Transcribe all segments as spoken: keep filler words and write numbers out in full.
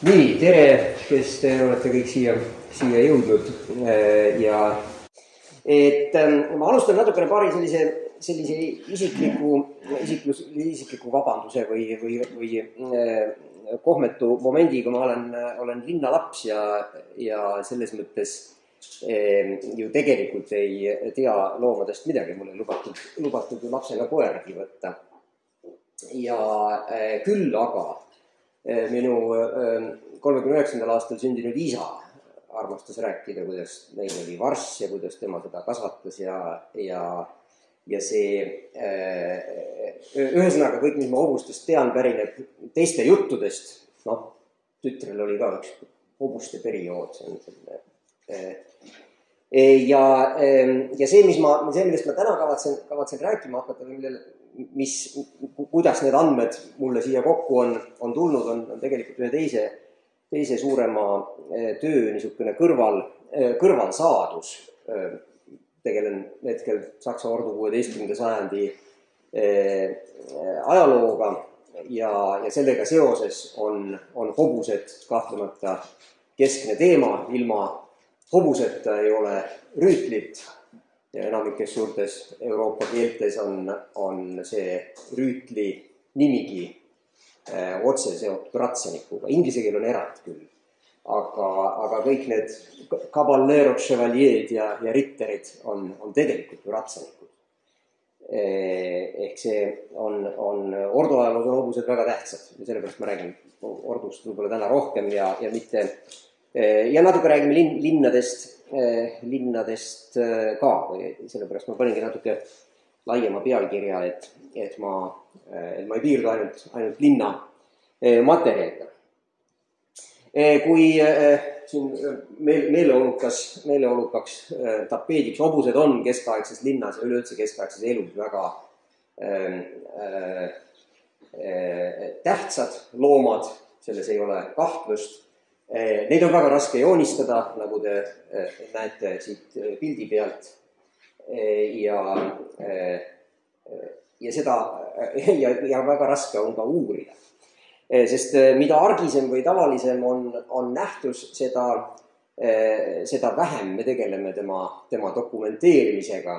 Nii, tere, kes te olete kõik siia, siia jõudnud ja et ma alustan natukene paari sellise, sellise isikliku, isiklus, isikliku vabanduse või, või, või kohmetu momendiga. Ma olen, olen linnalaps ja, ja selles mõttes ju tegelikult ei tea loomadest midagi. Mulle lubatud, lubatud lapsena koeragi võtta. Ja küll aga minu kolmekümne üheksandal aastal sündinud isa armastas rääkida, kuidas neil oli varss ja kuidas tema seda kasvatas ja, ja, ja see ühesõnaga kõik, mis ma hobustest tean, pärineb teiste juttudest. Noh, tütrel oli ka üks hobuste periood. See on selline, ja, ja see, mis ma, see, millest ma täna kavatsen, kavatsen rääkima hakata, millele mis, kuidas need andmed mulle siia kokku on, on tulnud, on, on tegelikult ühe teise, teise suurema töö niisugune kõrval, kõrvalsaadus. Tegelen hetkel Saksa ordu kuueteistkümnenda sajandi ajalooga ja, ja sellega seoses on, on hobused kahtlemata keskne teema. Ilma hobuseta ei ole rüütlit. Ja enamikes suurtes Euroopa keeltes on, on see rüütli nimigi äh, otse seotud ratsanikuga. Inglise keel on erand küll, aga, aga kõik need caballeros, chevaliered ja, ja ritterid on, on tegelikult ju ratsanikud. Ehk see on, on orduajaloos on hobused väga tähtsad ja sellepärast ma räägin ordust võib-olla täna rohkem ja, ja mitte ja natuke räägime lin, linnadest, linnadest ka, või sellepärast ma paningi natuke laiema pealkirja, et, et, ma, et ma ei piirdu ainult, ainult linna materjaliga. Kui siin meel, meeleolukas, meeleolukaks tapeediks hobused on keskaegses linnas ja üleüldse keskaegses elus väga äh, äh, tähtsad loomad, selles ei ole kahtlust. Neid on väga raske joonistada, nagu te näete siit pildi pealt ja, ja, seda, ja, ja väga raske on ka uurida. Sest mida argisem või tavalisem on, on nähtus, seda, seda vähem me tegeleme tema, tema dokumenteerimisega.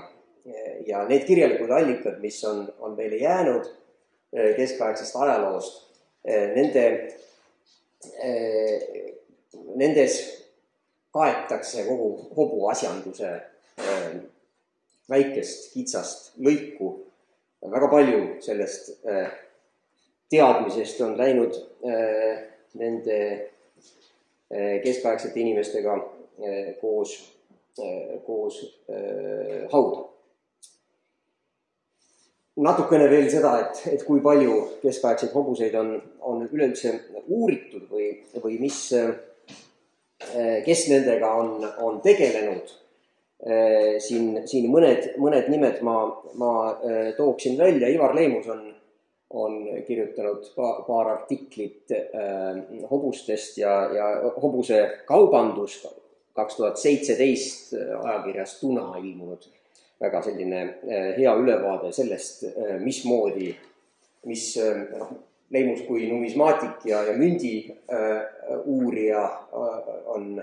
Ja need kirjalikud allikad, mis on, on meile jäänud keskaegsest ajaloost, nende Nendes kaetakse kogu hobu asjanduse väikest kitsast lõiku. Väga palju sellest teadmisest on läinud nende keskaegsete inimestega koos, koos hauda. Natukene veel seda, et, et kui palju keskaegseid hobuseid on, on üleüldse uuritud või, või mis, kes nendega on, on tegelenud. Siin, siin mõned, mõned nimed ma, ma tooksin välja. Ivar Leimus on, on kirjutanud paar artiklit hobustest ja, ja hobuse kaubandus kaks tuhat seitseteist ajakirjas Tuna ilmunud. Väga selline hea ülevaade sellest, mismoodi, mis noh, Leimus kui numismaatik ja, ja mündi uurija on,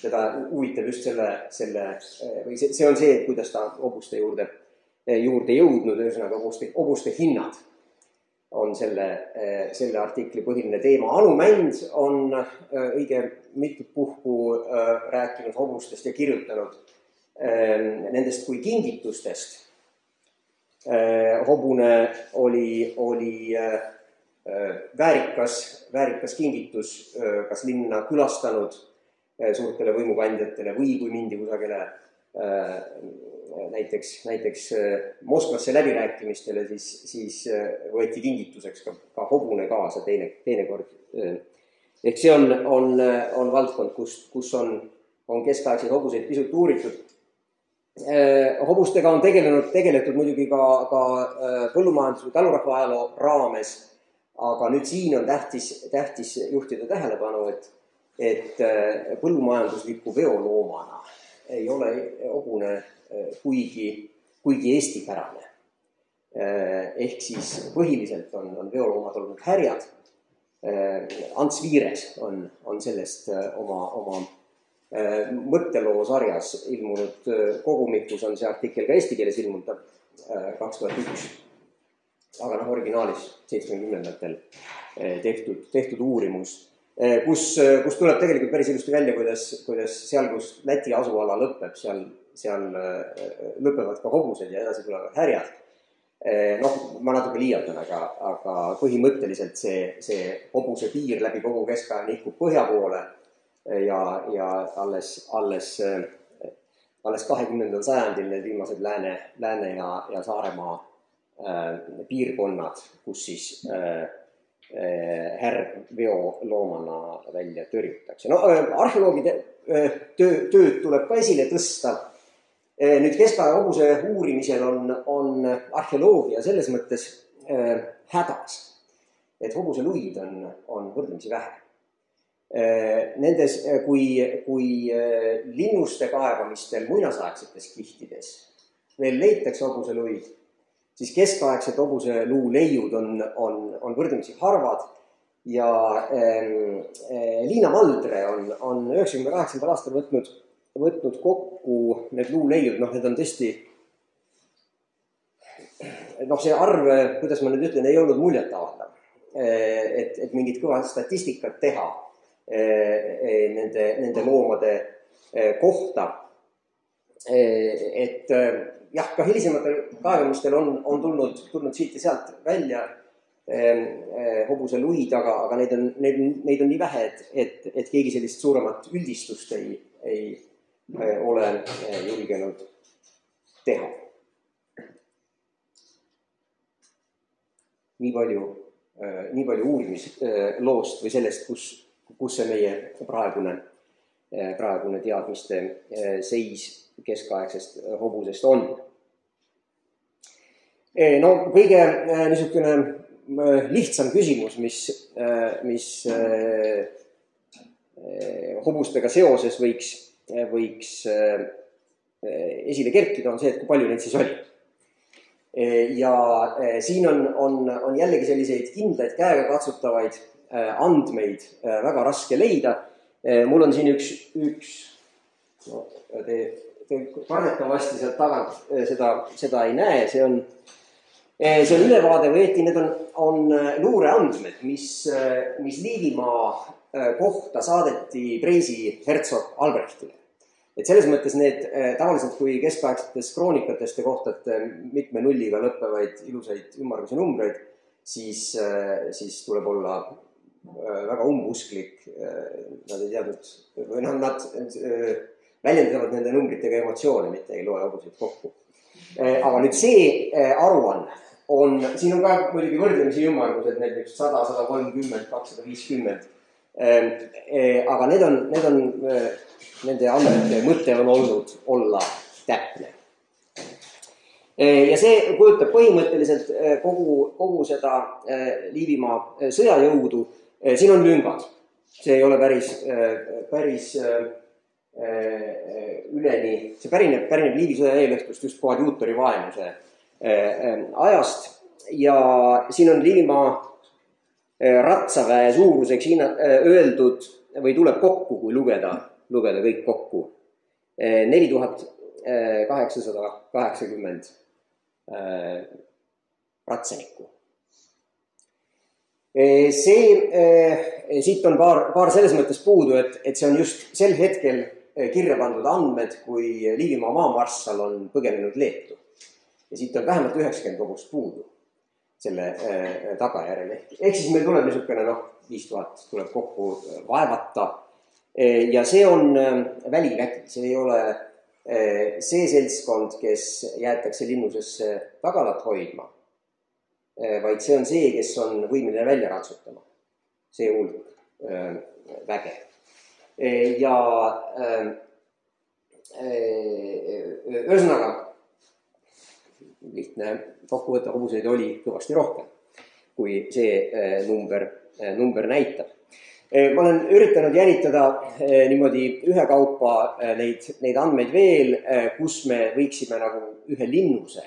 teda huvitab just selle, selle või see, see on see, kuidas ta hobuste juurde, juurde jõudnud, ühesõnaga hobuste, hobuste hinnad on selle, selle artikli põhiline teema. Anu Mänd on õige mitut puhku rääkinud hobustest ja kirjutanud nendest kui kingitustest. Hobune oli, oli väärikas, väärikas kingitus kas linna külastanud suurtele võimukandjatele või kui mindi kusagile näiteks, näiteks Moskvasse läbirääkimistele, siis, siis võeti kingituseks ka, ka hobune kaasa teine, teine kord. Ehk see on, on, on valdkond, kus, kus on, on keskaegseid hobuseid pisut uuritud. Hobustega on tegelenud, tegeletud muidugi ka, ka põllumajandus- või talurahva ajaloo raames, aga nüüd siin on tähtis, tähtis juhtida tähelepanu, et, et põllumajandusliku veoloomana ei ole hobune kuigi, kuigi eestipärane. Ehk siis põhiliselt on, on veoloomad olnud härjad, Ants Viires on, on sellest oma, oma mõtteloo sarjas ilmunud kogumikus, on see artikkel ka eesti keeles ilmunud kaks tuhat üks, aga noh, originaalis seitsmekümnendatel tehtud, tehtud uurimus, kus, kus tuleb tegelikult päris ilusti välja, kuidas, kuidas seal, kus Läti asuala lõpeb, seal, seal lõpevad ka hobused ja edasi tulevad härjad. Noh, ma natuke liialdan, aga, aga põhimõtteliselt see, see hobuse piir läbi kogu keskaja nihkub põhja poole ja, ja alles, alles, alles kahekümnendal sajandil need viimased Lääne, Lääne ja, ja Saaremaa äh, piirkonnad, kus siis äh, härveoloomana välja tõrjutakse. No arheoloogide töö, tööd tuleb ka esile tõsta. Nüüd keskaja hobuse uurimisel on, on arheoloogia selles mõttes äh, hädas, et hobuse luid on, on võrdlemisi vähe. Äh, nendes, kui, kui äh, linnuste kaevamistel muinasaegsetes kihtides veel leitakse hobuse luid, siis keskaegsed hobuse luu leiud on, on, on võrdlemisi harvad ja äh, Liina Maldre on, on üheksakümne kaheksandal aastal võtnud, võtnud kokku need luuleiud, noh, need on tõesti, noh, see arv, kuidas ma nüüd ütlen, ei olnud muljet avaldav, et, et mingit kõva statistikat teha nende, nende loomade kohta, et jah, ka hilisematel kaevamistel on, on tulnud, tulnud siit ja sealt välja hobuse luid, aga, aga neid on, neid, neid on nii vähe, et, et, et keegi sellist suuremat üldistust ei, ei ole julgenud teha. Nii palju, nii palju uurimisloost või sellest, kus, kus see meie praegune, praegune teadmiste seis keskaegsest hobusest on. No kõige niisugune lihtsam küsimus, mis, mis hobustega seoses võiks, võiks esile kerkida, on see, et kui palju neid siis oli. Ja siin on, on, on jällegi selliseid kindlaid käega katsutavaid andmeid väga raske leida. Mul on siin üks, üks no, te, te kardetavasti sealt tagant seda, seda ei näe, see on, see on ülevaade või eeti, need on, on luureandmed, mis, mis Liivimaa kohta saadeti Preisi hertsog Albrechtile. Et selles mõttes need tavaliselt, kui keskaegsetes kroonikatest te kohtate mitme nulliga lõppevaid ilusaid ümmargusi numbreid, siis, siis tuleb olla väga umbusklik. Nad ei teadnud, või noh, nad väljendavad nende numbritega emotsioone, mitte ei loe hobuseid kokku. Aga nüüd see aruanne on, siin on ka muidugi võrdlemisi ümmargused, näiteks sada, sada kolmkümmend, kakssada viiskümmend. Aga need on, need on, nende andmete mõte on olnud olla täpne. Ja see kujutab põhimõtteliselt kogu, kogu seda Liivimaa sõjajõudu. Siin on lüngad. See ei ole päris, päris üleni, see pärineb, pärineb Liivi sõja eelõhtust just koadjuutori vaenuse ajast. Ja siin on Liivimaa ratsaväe suuruseks hinna, öeldud või tuleb kokku, kui lugeda, lugeda kõik kokku. neli tuhat kaheksasada kaheksakümmend ratsanikku. See, siit on paar, paar selles mõttes puudu, et, et see on just sel hetkel kirja pandud andmed, kui Liivimaa maamarssal on põgenenud Leetu. Ja siit on vähemalt üheksakümmend hobust puudu selle tagajärjel. Ehk siis meil tuleb niisugune, noh, viis tuhat tuleb kokku vaevata. Ja see on välivägi, see ei ole see seltskond, kes jäetakse linnusesse tagalat hoidma, vaid see on see, kes on võimeline välja ratsutama. See hulk väge. Ja ühesõnaga, lihtne kokkuvõtte hobuseid oli kõvasti rohkem, kui see number, number näitab. Ma olen üritanud jälitada niimoodi ühekaupa neid, neid andmeid veel, kus me võiksime nagu ühe linnuse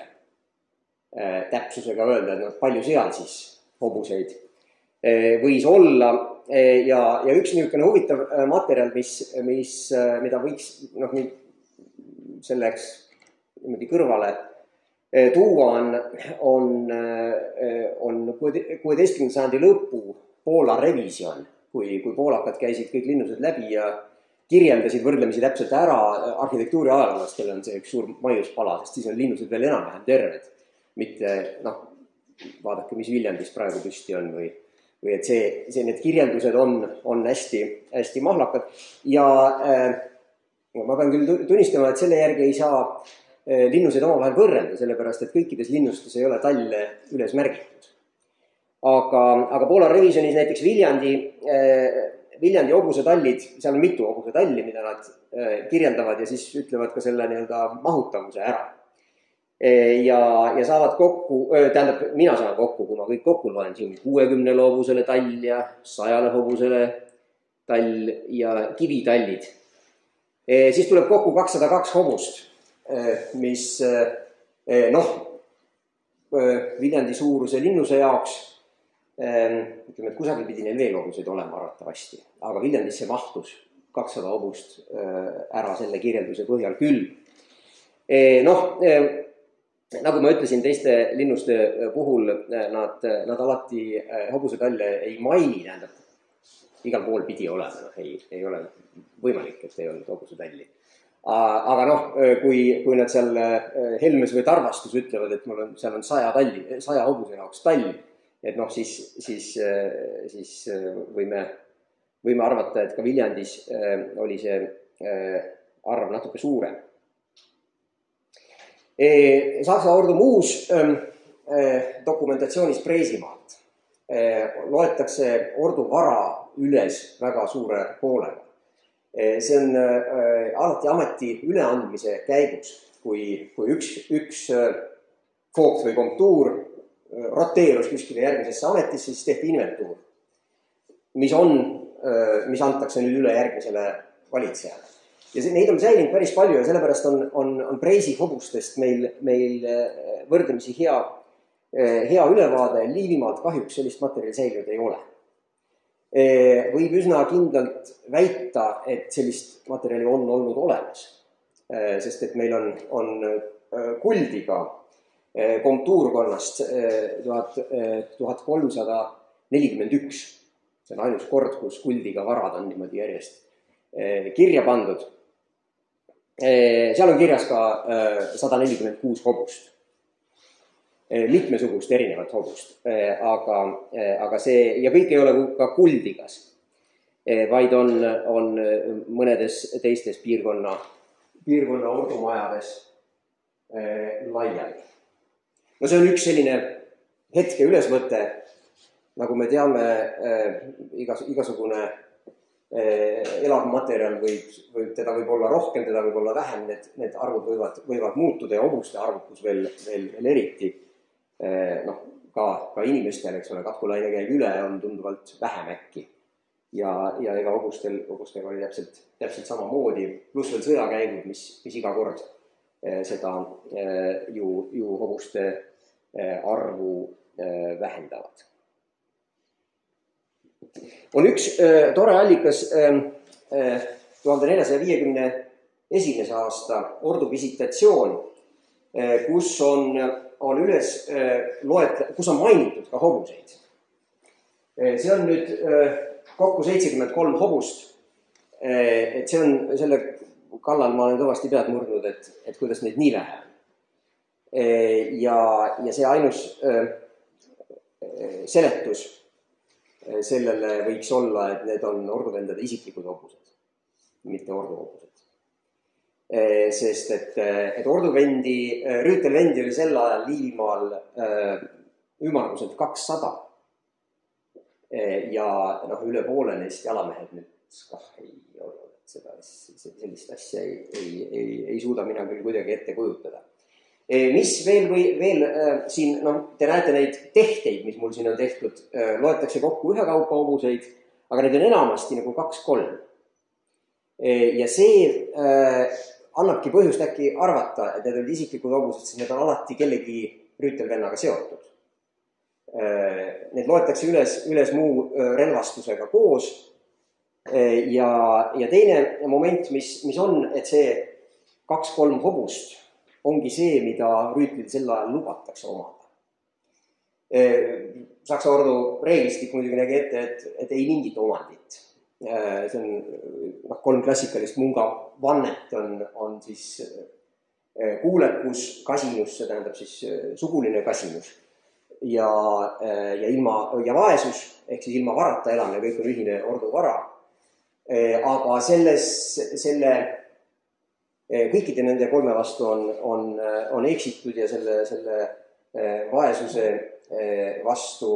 täpsusega öelda, et palju seal siis hobuseid võis olla ja, ja üks niisugune huvitav materjal, mis, mis, mida võiks noh, selleks niimoodi kõrvale tuua on, on, on kuueteistkümnenda sajandi lõpu Poola revisjon, kui, kui poolakad käisid kõik linnused läbi ja kirjeldasid võrdlemisi täpselt ära arhitektuuri ajaloost, kellel on see üks suur maiuspala, sest siis on linnused veel enam-vähem terved. Mitte, noh, vaadake, mis Viljandis praegu püsti on või, või et see, see, need kirjeldused on, on hästi, hästi mahlakad. Ja äh, ma pean küll tunnistama, et selle järgi ei saa äh, linnused omavahel võrrelda, sellepärast et kõikides linnustes ei ole talle üles märgitud. Aga, aga Poola revisjonis näiteks Viljandi, äh, Viljandi hobusetallid, seal on mitu hobusetalli, mida nad äh, kirjeldavad ja siis ütlevad ka selle nii-öelda mahutavuse ära. Ja, ja saavad kokku, tähendab, mina saan kokku, kui ma kõik kokku loen, siin kuuekümnele hobusele tall ja sajale hobusele tall ja kivitallid. Siis tuleb kokku kakssada kaks hobust, mis noh, Viljandi suuruse linnuse jaoks, ütleme, et kusagil pidi neil veel hobuseid olema arvatavasti, aga Viljandisse mahtus kakssada hobust ära selle kirjelduse põhjal küll. Noh, nagu ma ütlesin, teiste linnuste puhul nad, nad alati hobusetalle ei maini, tähendab, igal pool pidi olema, noh, ei, ei ole võimalik, et ei olnud hobusetalli. Aga noh, kui, kui nad seal Helmes või Tarvastus ütlevad, et mul on, seal on saja talli, saja hobuse jaoks tall, et noh, siis, siis, siis võime, võime arvata, et ka Viljandis oli see arv natuke suurem. Saksa ordu muus dokumentatsioonis Preesimaalt loetakse ordu vara üles väga suure hoolega. See on alati ameti üleandmise käigus, kui, kui üks, üks fookt või komtuur roteerus kuskile järgmisesse ametisse, siis tehti inventuur, mis on, mis antakse nüüd üle järgmisele valitsejale. Ja see, neid on säilinud päris palju ja sellepärast on, on, on Preisi hobustest meil, meil võrdlemisi hea, hea ülevaade. Liivimaalt kahjuks sellist materjali säilinud ei ole. Võib üsna kindlalt väita, et sellist materjali on olnud olemas, sest et meil on, on kuldiga komtuurkonnast tuhat kolmsada nelikümmend üks. See on ainus kord, kus kuldiga varad on niimoodi järjest kirja pandud. Seal on kirjas ka sada nelikümmend kuus hobust. Mitmesugust erinevat hobust, aga, aga see, ja kõik ei ole ka kuldigas, vaid on, on mõnedes teistes piirkonna, piirkonna ordumajades laiali. No see on üks selline hetke ülesvõte, nagu me teame, igas, igasugune elav materjal võib, võib, teda võib olla rohkem, teda võib olla vähem, need, need arvud võivad, võivad muutuda ja hobuste arvukus veel, veel, veel eriti. Noh, ka, ka inimestel, eks ole, katkulaine käib üle, on tunduvalt vähem äkki. Ja, ja ega hobustel, hobustega oli täpselt, täpselt sama moodi, pluss veel sõjakäigud, mis, mis iga kord seda ju, ju hobuste arvu vähendavad. On üks äh, tore allikas äh, tuhande neljasaja viiekümne esimese aasta ordu visitatsioon, äh, kus on, on üles äh, loet, kus on mainitud ka hobuseid. Äh, see on nüüd äh, kokku seitsekümmend kolm hobust. Äh, et see on selle kallal ma olen kõvasti pead murdnud, et, et kuidas neid nii vähe on. Äh, ja, ja see ainus äh, seletus sellele võiks olla, et need on orduvendade isiklikud hobused, mitte orduhobused. Sest et, et orduvendi, rüütelvendi oli sel ajal Liivimaal ümmarguselt kakssada. Ja noh, üle poole neist jalamehed nüüd kah ei ole, seda, sellist asja ei, ei, ei, ei suuda mina küll kuidagi ette kujutada. Mis veel või veel siin, noh, te näete neid tehteid, mis mul siin on tehtud, loetakse kokku ühe kaupa hobuseid, aga need on enamasti nagu kaks-kolm. Ja see annabki põhjust äkki arvata, et need olid isiklikud hobused, sest need on alati kellegi rüütelvennaga seotud. Need loetakse üles, üles muu relvastusega koos. Ja, ja teine moment, mis, mis on, et see kaks-kolm hobust ongi see, mida rüütlil sel ajal lubatakse omada. Saksa ordu reeglistik muidugi nägi ette, et, et ei mingit omandit. See on noh, kolm klassikalist munga vannet on, on siis kuulekus, kasinus, see tähendab siis suguline kasinus ja, ja, ilma, ja vaesus, ehk siis ilma varata elamine, kõik on ühine ordu vara. Aga selles, selle, kõikide nende kolme vastu on, on, on eksitud ja selle, selle vaesuse vastu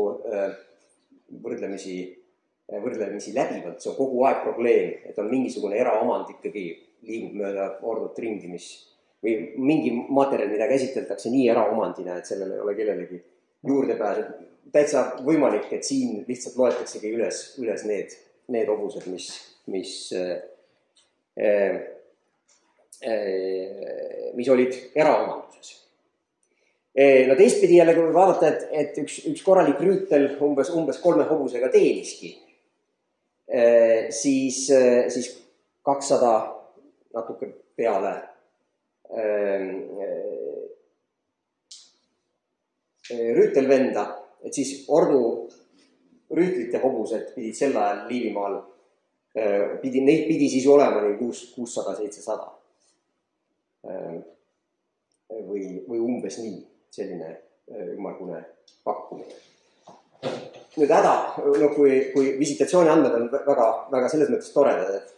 võrdlemisi võrdlemisi läbivalt, see on kogu aeg probleem, et on mingisugune eraomand ikkagi liigub mööda ordut ringi, mis või mingi materjal, mida käsitletakse nii eraomandina, et sellele ei ole kellelegi juurdepääsu. Täitsa võimalik, et siin lihtsalt loetaksegi üles, üles need, need hobused, mis, mis, äh, äh, mis olid eraomanduses. No teistpidi jälle, kui vaadata, et, et üks, üks korralik rüütel umbes, umbes kolme hobusega teeniski, siis, siis kakssada natuke peale rüütelvenda, et siis ordu rüütlite hobused pidid sel ajal Liivimaal, pidi, neid pidi siis olema nii kuussada seitsesada või, või umbes nii, selline ümmargune pakkumine. Nüüd häda, no kui, kui visitatsiooni andmed on väga, väga selles mõttes toredad, et,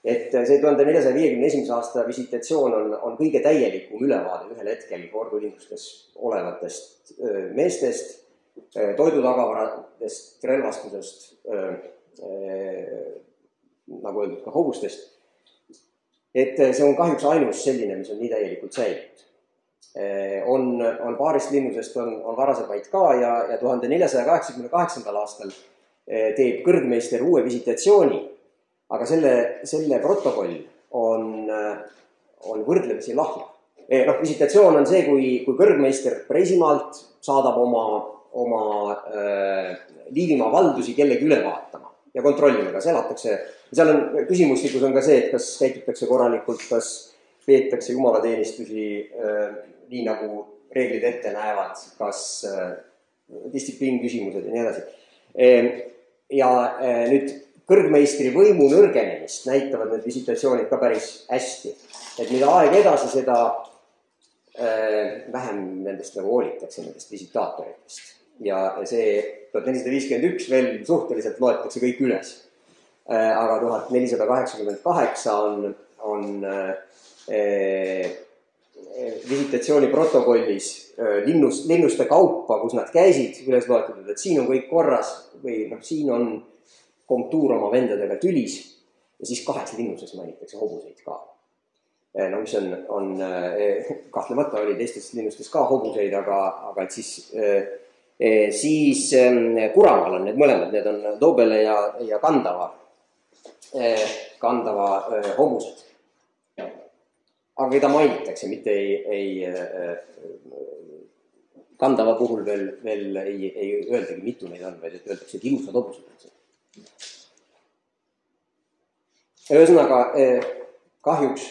et see tuhande neljasaja viiekümne esimese aasta visitatsioon on, on kõige täielikum ülevaade ühel hetkel ordulindustes olevatest meestest, toidutagavaradest, relvastusest, nagu öeldud ka hobustest. Et see on kahjuks ainus selline, mis on nii täielikult säilinud. On, on paarist linnusest on, on varasemaid ka ja, ja tuhande neljasaja kaheksakümne kaheksandal aastal teeb kõrgmeister uue visitatsiooni, aga selle, selle protokoll on, on võrdlemisi lahja. No, visitatsioon on see, kui, kui kõrgmeister Preisimaalt saadab oma, oma äh, Liivimaa valdusi kellegi üle vaatama ja kontrollima, kas elatakse. Seal on küsimustikus on ka see, et kas käitutakse korralikult, kas peetakse jumalateenistusi äh, nii nagu reeglid ette näevad, kas äh, distsipliin küsimused ja nii edasi. E, ja e, nüüd kõrgmeistri võimu nõrgenemist näitavad need visitatsioonid ka päris hästi. Et mida aeg edasi, seda e, vähem nendest nagu hoolitakse, nendest visitaatoritest. Ja see tuhat nelisada viiskümmend üks veel suhteliselt loetakse kõik üles. E, aga tuhat nelisada kaheksakümmend kaheksa on, on e, visitatsiooni protokollis linnus, linnuste kaupa, kus nad käisid, üles loetud, et siin on kõik korras või noh, siin on komtuur oma vendadega tülis ja siis kaheks linnuses mainitakse hobuseid ka. No mis on, on kahtlemata oli teistes linnustes ka hobuseid, aga, aga et siis, siis Kuramaal on need mõlemad, need on Dobele ja, ja Kandava, Kandava hobused. Aga keda mainitakse, mitte ei, ei Kandava puhul veel, veel ei, ei öeldagi mitu neid on, vaid et öeldakse, et ilusad hobused. Ühesõnaga, kahjuks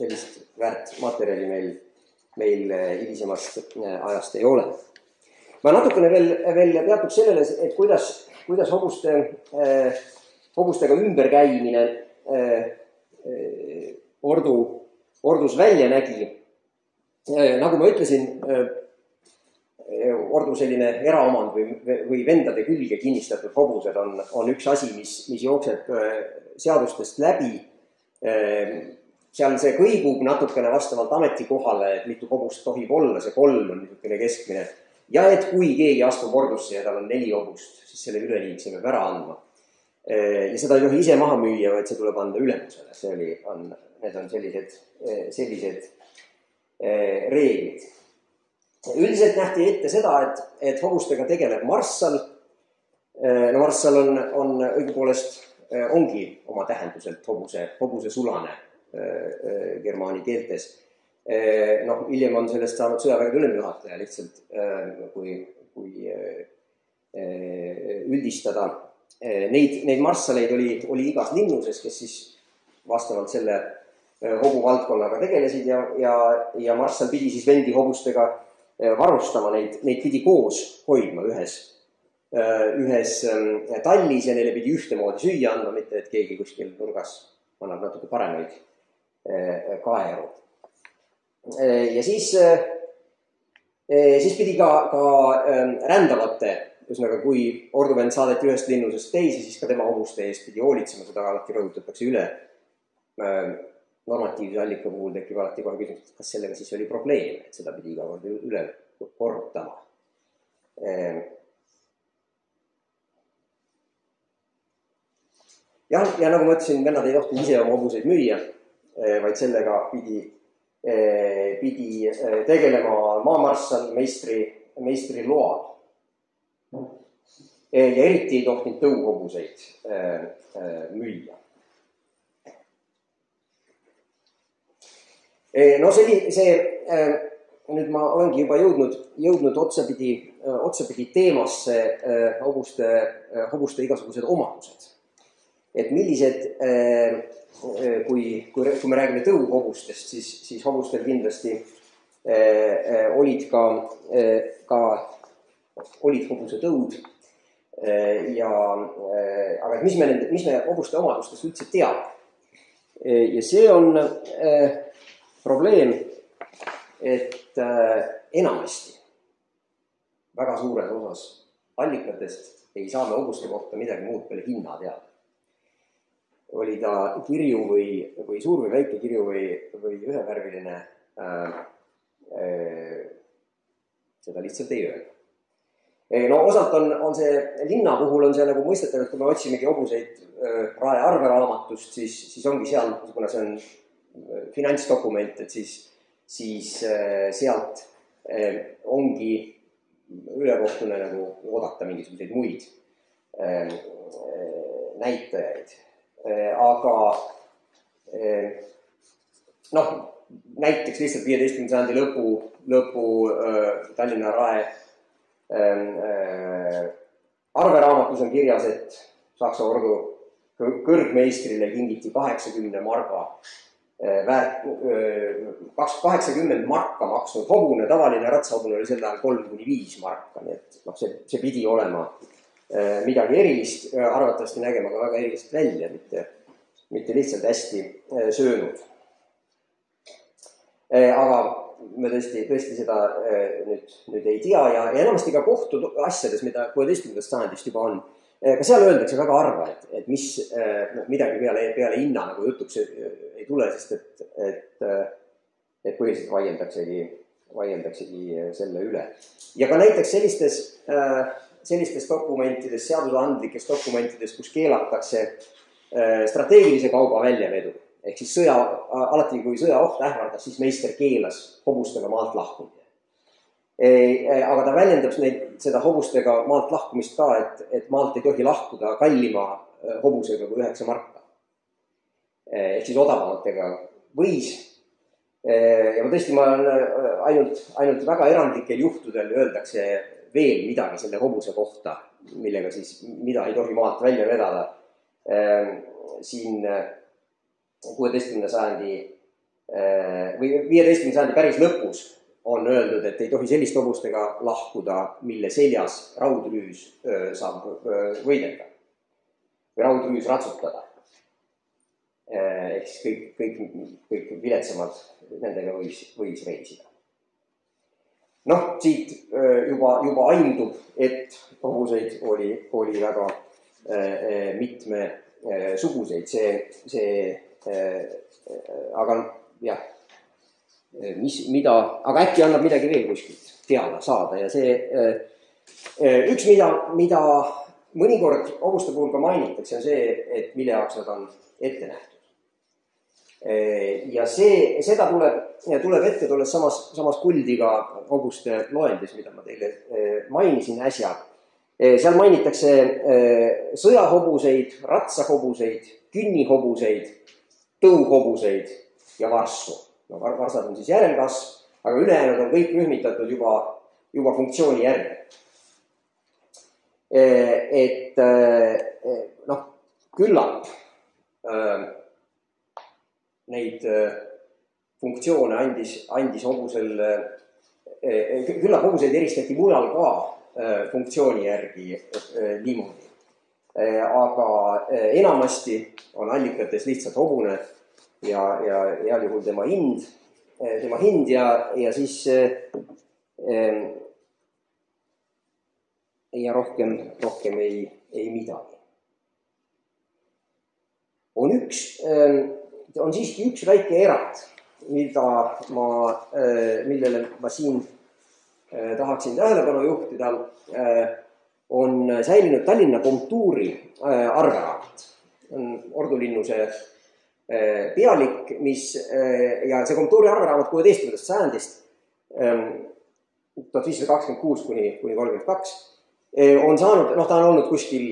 sellist väärt materjali meil, meil hilisemast ajast ei ole. Ma natukene veel, veel peatub sellele, et kuidas, kuidas hobuste, hobustega ümberkäimine ordu ordus välja nägi. Nagu ma ütlesin, ordu selline eraomand või, või vendade külge kinnistatud hobused on, on üks asi, mis, mis jookseb seadustest läbi. Seal see kõigub natukene vastavalt ametikohale, et mitu hobust tohib olla, see kolm on niisugune keskmine. Ja et kui keegi astub ordusse ja tal on neli hobust, siis selle üleliigse peab ära andma. Ja seda ei tohi ise maha müüa, vaid see tuleb anda ülemusele. See oli, on, need on sellised, sellised reeglid. Üldiselt nähti ette seda, et, et hobustega tegeleb marssal. No marssal on, on õigupoolest ongi oma tähenduselt hobuse, hobuse sulane germaani keeltes. Noh, hiljem on sellest saanud sõjavägede ülemjuhataja lihtsalt, kui, kui üldistada. Neid, neid marssaleid oli, oli igas linnuses, kes siis vastavalt selle hobu valdkonnaga tegelesid ja, ja, ja marssal pidi siis vendi hobustega varustama, neid, neid pidi koos hoidma ühes, ühes tallis ja neile pidi ühtemoodi süüa andma, mitte et keegi kuskil nurgas annab natuke paremaid kaeru. Ja siis, siis pidi ka, ka rändavate, ühesõnaga kui orduvend saadeti ühest linnusest teise, siis ka tema hobuste eest pidi hoolitsema, seda alati rõhutatakse üle. Normatiivse allika puhul tekib alati kohe küsimus, kas sellega siis oli probleem, et seda pidi iga kord üle korrutama. Ja, ja nagu ma ütlesin, vennad ei tohtinud ise oma hobuseid müüa, vaid sellega pidi, pidi tegelema maamarssal meistri, meistri loal. Ja eriti ei tohtinud tõuhobuseid müüa. No see, see, nüüd ma olengi juba jõudnud, jõudnud otsapidi, otsapidi teemasse hobuste, hobuste igasugused omadused. Et millised, kui, kui, kui me räägime tõuhobustest, siis, siis hobustel kindlasti olid ka, ka olid hobuse tõud. Ja, aga mis me, mis me hobuste omadustest üldse teame? Ja see on probleem, et enamasti väga suures osas allikatest ei saa me hobuste kohta midagi muud peale hinna teada. Oli ta kirju või, või suur või väike kirju või, või ühevärviline, äh, äh, seda lihtsalt ei öelda. No osalt on, on see, linna puhul on see nagu mõistetav, et kui me otsimegi hobuseid Rae arveraamatust, siis, siis ongi seal, kuna see on finantsdokument, et siis, siis sealt ongi ülekohtune nagu oodata mingisuguseid muid näitajaid. Aga noh, näiteks lihtsalt viieteistkümnenda sajandi lõpu, lõpu Tallinna Rae arveraamatus on kirjas, et Saksa ordu kõrgmeistrile kingiti kaheksakümne marga väärt, kaheksakümmend marka maksnud hobune, tavaline ratsahobune oli sel ajal kolm kuni viis marka, nii et noh, see, see pidi olema midagi erilist, arvatavasti nägema ka väga erilist välja, mitte, mitte lihtsalt hästi söönud. Aga me tõesti, tõesti seda nüüd, nüüd ei tea ja, ja enamasti ka kohtu asjades, mida kuueteistkümnendast sajandist juba on, ka seal öeldakse väga harva, et, et mis midagi peale, peale hinna nagu jutuks ei tule, sest et, et, et põhiliselt vaieldaksegi, vaieldaksegi selle üle. Ja ka näiteks sellistes, sellistes dokumentides, seadusandlikes dokumentides, kus keelatakse strateegilise kauba väljavedu, ehk siis sõja, alati kui sõjaoht ähvardas, siis meister keelas hobustega maalt lahkumine. Aga ta väljendab neid, seda hobustega maalt lahkumist ka, et, et maalt ei tohi lahkuda kallima hobusega kui üheksa marka. Ehk siis odavamatega võis. Ja ma tõesti, ma ainult, ainult väga erandlikel juhtudel öeldakse veel midagi selle hobuse kohta, millega siis, mida ei tohi maalt välja vedada. Siin kuueteistkümnenda sajandi või viieteistkümnenda sajandi päris lõpus on öeldud, et ei tohi sellist hobustega lahkuda, mille seljas raudrüüs saab võidelda või raudrüüs ratsutada. Ehk siis kõik, kõik, kõik viletsamad nendega võis, võis reisida. Noh, siit juba, juba aimdub, et hobuseid oli, oli väga mitme suguseid. See, see, aga jah, mis, mida, aga äkki annab midagi veel kuskilt teada saada ja see üks, mida, mida mõnikord hobuste puhul ka mainitakse, on see, et mille jaoks nad on ette nähtud. Ja see, seda tuleb, tuleb ette tulles samas, samas kuldiga hobuste loendis, mida ma teile mainisin äsja. Seal mainitakse sõjahobuseid, ratsahobuseid, künnihobuseid, tõuhobuseid ja varssu. No, varsad on siis järelkasv, aga ülejäänud on kõik rühmitatud juba, juba funktsiooni järgi. et noh, küllap neid funktsioone andis, andis hobusel, küllap hobuseid eristati mujal ka funktsiooni järgi niimoodi. Aga enamasti on allikates lihtsalt hobune ja, ja heal juhul tema hind, tema hind ja, ja siis ja rohkem, rohkem ei, ei midagi. On üks, on siiski üks väike erand, mida ma, millele ma siin tahaksin tähelepanu juhtida, on säilinud Tallinna komtuuri arveraamat. On Ordu Linnuse pealik, mis, ja see komtuuri arveraamat kuueteistkümnendast sajandist, tuhat viissada kakskümmend kuus kuni kolmkümmend kaks, on saanud, noh, ta on olnud kuskil,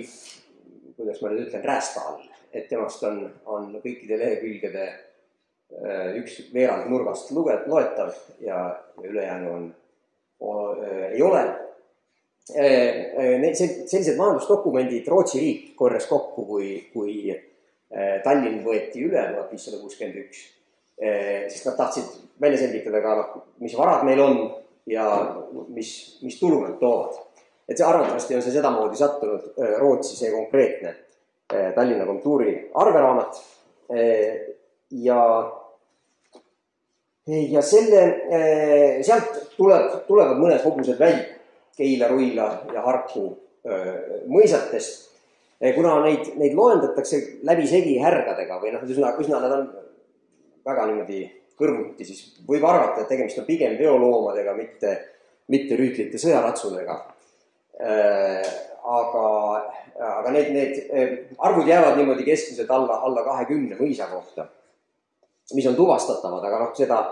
kuidas ma nüüd ütlen, räästa all, et temast on, on kõikide lehekülgede üks veerand nurgast loetav ja ülejäänu on, on, ei ole. Sellised majandusdokumendid Rootsi riik korjas kokku, kui, kui Tallinn võeti üle tuhat viissada kuuskümmend üks, sest nad tahtsid välja selgitada ka, mis varad meil on ja mis, mis tulu nad toovad. Et see arvatavasti on see sedamoodi sattunud Rootsi see konkreetne Tallinna komtuuri arveraamat ja, ja selle, sealt tuleb, tulevad mõned hobused välja Keila, Ruila ja Harku mõisatest, kuna neid, neid loendatakse läbi segi härgadega või noh, üsna, üsna nad on väga niimoodi kõrvuti, siis võib arvata, et tegemist on pigem veoloomadega, mitte, mitte rüütlite sõjaratsudega. Aga, aga need, need arvud jäävad niimoodi keskmiselt alla, alla kahekümne mõisa kohta, mis on tuvastatavad, aga noh, seda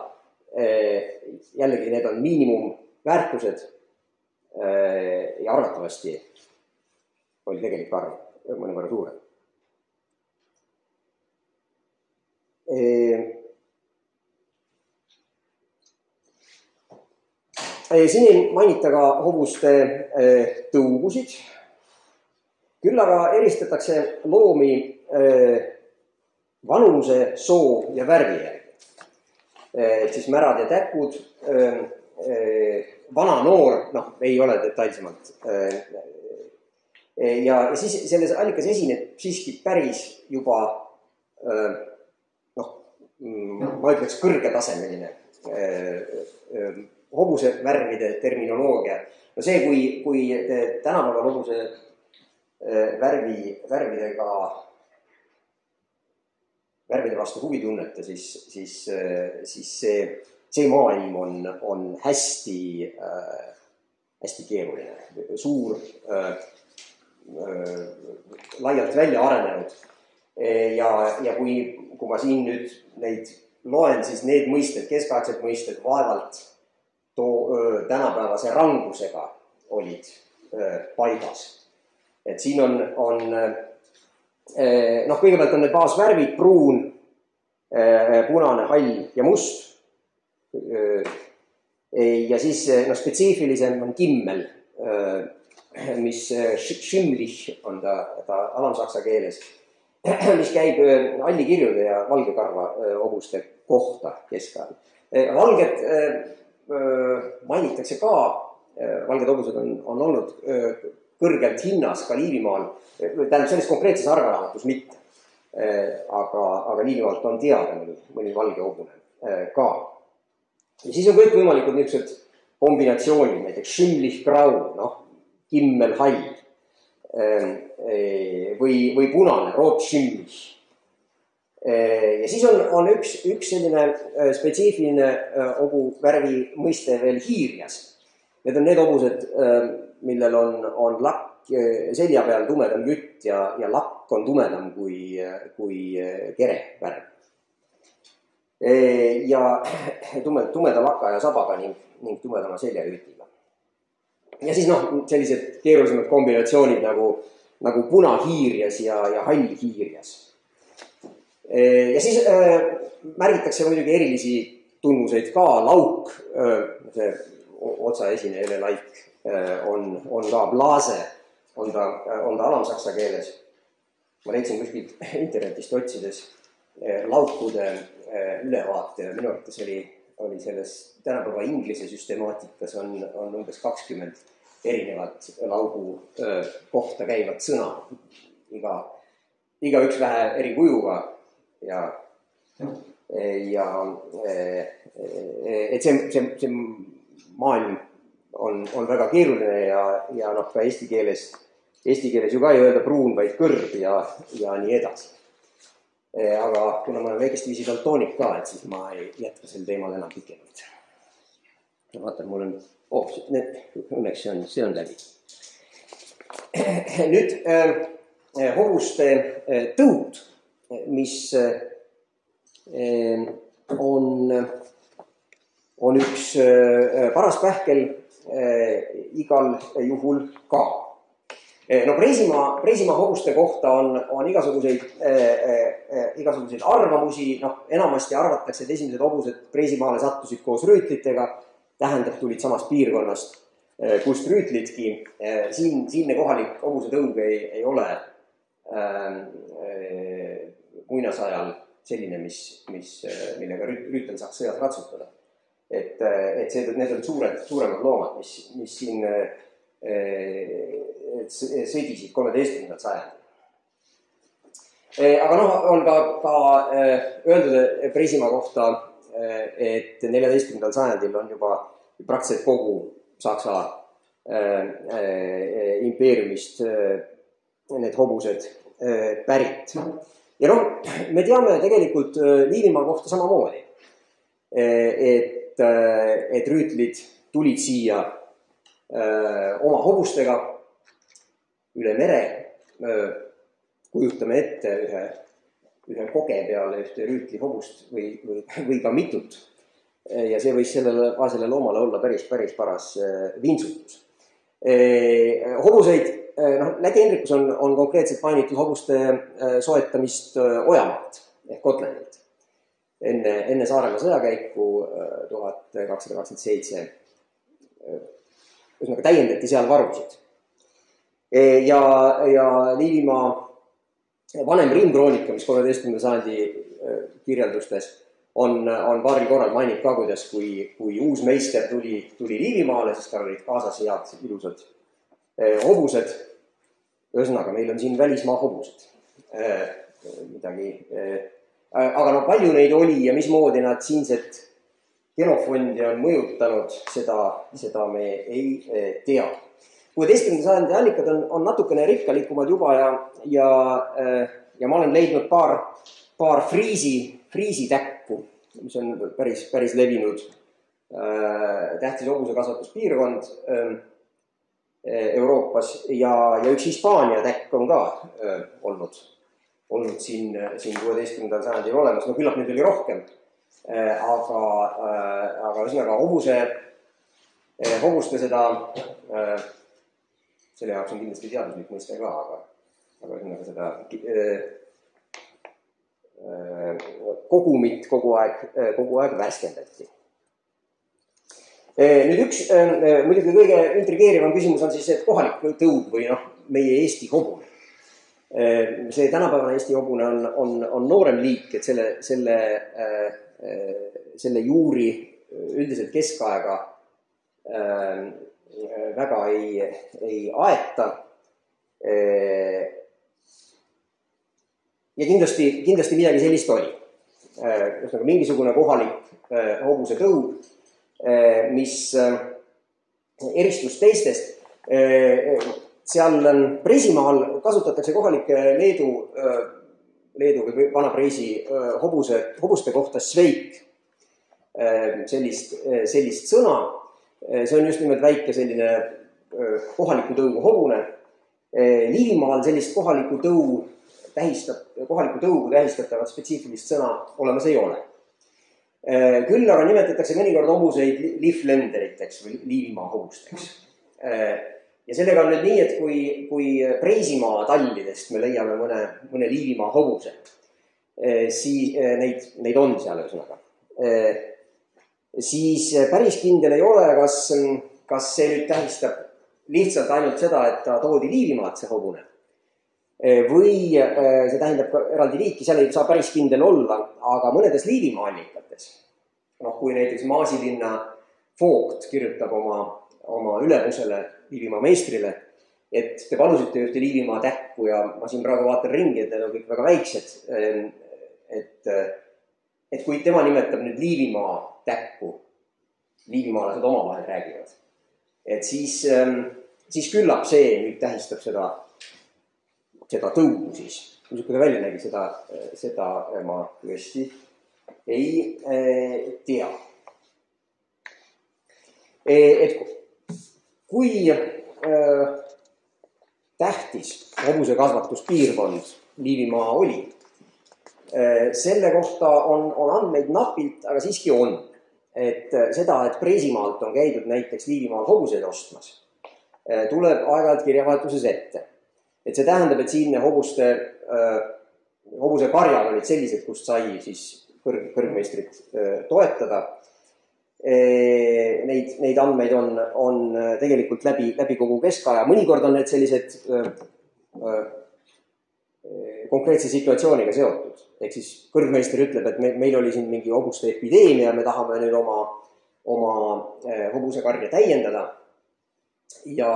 jällegi need on miinimumväärtused ja arvatavasti oli tegelik arv mõnevõrra suurem. Siin ei mainita ka hobuste tõugusid, küll aga eristatakse loomi vanuse, soo ja värvi järgi. Et siis märad ja täkud, vana noor, noh, ei ole detailsemalt. Ja siis selles allikas esineb siiski päris juba, noh, ma ütleks kõrgetasemeline hobuse värvide terminoloogia. No see, kui, kui tänapäeval hobuse värvi, värvidega, värvide vastu huvi tunnete, siis, siis, siis see, see maailm on, on hästi, hästi keeruline, suur, laialt välja arenenud. Ja, ja kui, kui ma siin nüüd neid loen, siis need mõisted, keskaegsed mõisted vaevalt too tänapäevase rangusega olid paigas. Et siin on, on noh, kõigepealt on need baasvärvid, pruun, punane, hall ja must. Ja siis noh, spetsiifilisem on kimmel, mis schimlich on ta, ta alamsaksa keeles, mis käib allikirjude ja valgekarva hobuste kohta keskajal. Valged mainitakse ka, valged hobused on, on olnud kõrgelt hinnas ka Liivimaal, tähendab selles konkreetses arveraamatus mitte, aga, aga Liivimaalt on teada mõni, mõni valge hobune ka. Ja siis on kõik võimalikud niisugused kombinatsioonid, näiteks schimlich grau, noh, kimmel hall või, või punane, rot schimlich. Ja siis on, on üks, üks selline spetsiifiline hobu värvi mõiste veel hiirjas. Need on need hobused, millel on, on lakk selja peal tumedam jütt ja, ja lakk on tumedam kui, kui kere värv. Ja tume, tumeda laka ja sabaga ning, ning tumedama seljajütiga. Ja siis noh, sellised keerulisemad kombinatsioonid nagu, nagu punahiirjas ja, ja hallihiirjas. Ja siis äh, märgitakse muidugi erilisi tunnuseid ka, lauk, äh, see otsaesine elelaik äh, on, on ka blaase on ta, on ta alamsaksa keeles. Ma leidsin kuskilt internetist otsides laukude ülevaate ja minu arvates oli, oli selles tänapäeva inglise süstemaatikas on, on umbes kakskümmend erinevat laugu kohta käivat sõna. Iga, iga üks vähe eri kujuga ja, ja et see, see, see maailm on, on väga keeruline ja, ja noh, ka eesti keeles, eesti keeles ju ka ei öelda pruun, vaid kõrb ja, ja nii edasi. Aga kuna ma olen väikest viisi daltoonik ka, et siis ma ei jätka sel teemal enam pikemalt. Vaatan, mul on, oh, õnneks see on, see on läbi. Nüüd äh, hobuste äh, tõud, mis äh, on, on üks äh, paras pähkel äh, igal juhul ka. No Preisimaa, Preisimaa hobuste kohta on, on igasuguseid, äh, igasuguseid arvamusi, noh, enamasti arvatakse, et esimesed hobused Preisimaale sattusid koos rüütlitega, tähendab, tulid samast piirkonnast, kust rüütlidki. Siin, siinne kohalik hobuse tõug ei, ei ole äh, muinasajal selline, mis, mis, millega rüütel saaks sõjas ratsutada. Et, et see, need on suured, suuremad loomad, mis, mis siin et sõdisid kolmeteistkümnendal sajandil. Aga noh, on ka, ka öeldud Preisimaa kohta, et neljateistkümnendal sajandil on juba praktiliselt kogu Saksa impeeriumist need hobused pärit. Ja noh, me teame tegelikult Liivimaa kohta samamoodi, et, et rüütlid tulid siia oma hobustega üle mere, kujutame ette ühe, ühe koge peale ühte rüütli hobust või, või, või ka mitut. Ja see võis sellele vaesele loomale olla päris, päris paras vintsutus. Hobuseid, noh, Läti Hendrikus on, on konkreetselt mainitud hobuste soetamist Ojamaalt ehk Kotlanilt. Enne, enne Saaremaa sõjakäiku tuhat kakssada kakskümmend seitse üsnaga täiendati seal varusid. Ja, ja Liivimaa vanem rimkroonika, mis kolmeteistkümnenda sajandi kirjeldustes on, on paaril korral mainib ka, kuidas kui, kui uus meister tuli, tuli Liivimaale, siis tal olid kaasas head ilusad hobused. Ühesõnaga, meil on siin välismaa hobused. Midagi. Aga no palju neid oli ja mismoodi nad siinset genofondi on mõjutanud, seda, seda me ei tea. kuueteistkümnenda sajandi allikad on, on natukene rikkalikumad juba ja, ja, ja ma olen leidnud paar, paar friisi, friisitäkku, mis on päris, päris levinud tähtis hobuse kasvatuspiirkond Euroopas ja, ja üks Hispaania täkk on ka olnud, olnud siin, siin kuueteistkümnendal sajandil olemas. No küllap nüüd oli rohkem, aga, aga üsnaga hobuse, hobuste seda selle jaoks on kindlasti teaduslik mõiste ka, aga, aga üsnaga seda äh, kogumit kogu aeg, kogu aeg värskendati. Nüüd üks, äh, muidugi kõige intrigeerivam küsimus on siis, et kohalik tõud või noh, meie Eesti hobune. Äh, see tänapäevane Eesti hobune on, on, on noorem liik, et selle, selle, äh, selle juuri üldiselt keskaega äh, väga ei, ei aeta. Ja kindlasti, kindlasti midagi sellist oli. Mingisugune kohalik hobuse tõud, mis eristus teistest. Seal Preisimaal kasutatakse kohalike Leedu, Leedu või Vana-Preisi hobuse, hobuste kohta sveik, sellist, sellist sõna. See on just nimelt väike selline kohaliku tõugu hobune. Liivimaal sellist kohaliku tõu tähistab, kohaliku tõugu tähistatavat spetsiifilist sõna olemas ei ole. Küll aga nimetatakse mõnikord hobuseid liiflenderiteks või Liivimaa hobusteks. Ja sellega on nüüd nii, et kui, kui Preisimaa tallidest me leiame mõne, mõne Liivimaa hobuse, siis neid, neid on seal ühesõnaga. Siis päris kindel ei ole, kas, kas see nüüd tähistab lihtsalt ainult seda, et ta toodi Liivimaalt see hobune. Või see tähendab ka eraldi liiki, seal ei saa päris kindel olla, aga mõnedes Liivimaa allikates, noh, kui näiteks Maasilinna Vogt kirjutab oma, oma ülemusele, Liivimaa meistrile, et te palusite ühte Liivimaa tähku ja ma siin praegu vaatan ringi, et need on kõik väga väiksed, et, et kui tema nimetab nüüd Liivimaa tähku, liivimaalased omavahel räägivad, et siis, siis küllap see nüüd tähistab seda, seda tõugu siis. Kui ta välja nägi, seda, seda ma tõesti ei tea. Et kui tähtis hobuse kasvatuspiirkond Liivimaa oli, selle kohta on, on andmeid napilt, aga siiski on. Et seda, et Preisimaalt on käidud näiteks Liivimaal hobuseid ostmas, tuleb aeg-ajalt kirjavahetuses ette. Et see tähendab, et siinne hobuste, hobuse karjad olid sellised, kust sai siis kõrg, kõrgmeistrit toetada. Neid, neid andmeid on, on tegelikult läbi, läbi kogu keskaja. Mõnikord on need sellised konkreetse situatsiooniga seotud. Ehk siis kõrgmeister ütleb, et me, meil oli siin mingi hobuste epideemia, me tahame nüüd oma, oma hobusekarja täiendada ja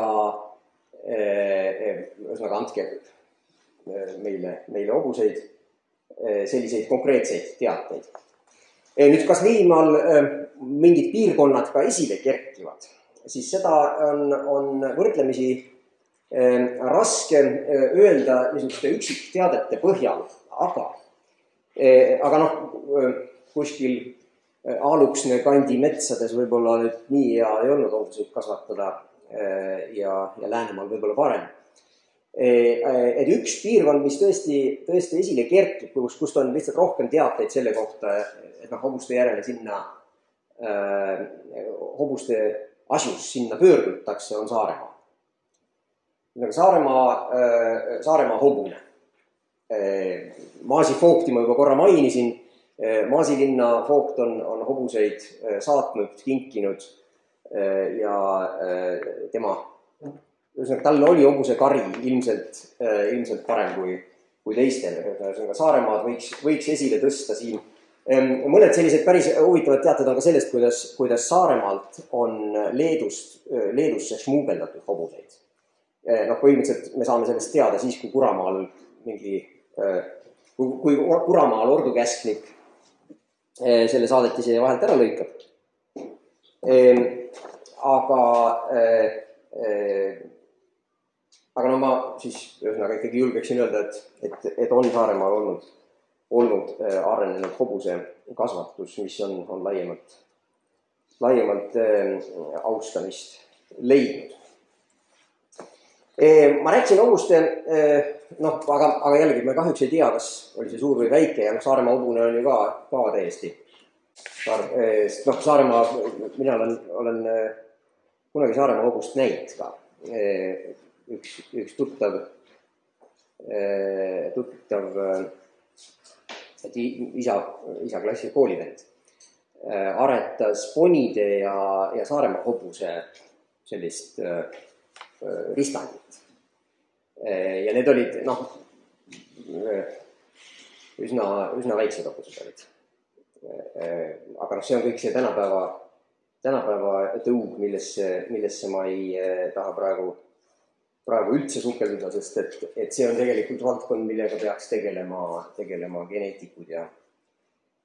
ühesõnaga andke meile, meile hobuseid, selliseid konkreetseid teateid. Nüüd, kas Liivimaal mingid piirkonnad ka esile kerkivad, siis seda on, on võrdlemisi raske öelda niisuguste üksikteadete põhjal, aga, aga noh, kuskil Aaluksne kandi metsades võib-olla nüüd nii hea ei olnud hobuseid kasvatada ja, ja Läänemaal võib-olla parem. Et üks piirkond, mis tõesti, tõesti esile kerkib, kust, kust on lihtsalt rohkem teateid selle kohta, et noh, hobuste järele sinna, hobuste asjus sinna pöördutakse, on Saaremaa. Saaremaa, Saaremaa hobune. Maasi Vogti ma juba korra mainisin. Maasilinna Vogt on, on hobuseid saatnud, kinkinud ja tema, ühesõnaga, tal oli hobuse kari ilmselt, ilmselt parem kui, kui teistel. Saaremaad võiks, võiks esile tõsta siin. Mõned sellised päris huvitavad teated on ka sellest, kuidas, kuidas Saaremaalt on Leedust, Leedusse šmuugeldatud hobuseid. Noh, põhimõtteliselt me saame sellest teada siis, kui Kuramaal mingi, kui, kui Kuramaal ordukäsknik selle saadetise vahelt ära lõikab. Aga, aga no ma siis ühesõnaga ikkagi julgeksin öelda, et, et, et on Saaremaal olnud, olnud arenenud hobuse kasvatus, mis on, on laiemalt, laiemalt austamist leidnud. Ma rääkisin hobuste, noh, aga, aga jällegi me kahjuks ei tea, kas oli see suur või väike ja noh, Saaremaa hobune on ju ka, ka täiesti. Noh, Saaremaa, mina olen, olen kunagi Saaremaa hobust näinud ka. Üks, üks tuttav, tuttav isa, isa klassi koolivend aretas ponide ja, ja Saaremaa hobuse sellist ristandit. Ja need olid, noh, üsna, üsna väiksed hobused olid. Aga noh, see on kõik see tänapäeva, tänapäeva tõug, millesse, millesse ma ei taha praegu, praegu üldse sukelduda, sest et, et see on tegelikult valdkond, millega peaks tegelema, tegelema geneetikud ja,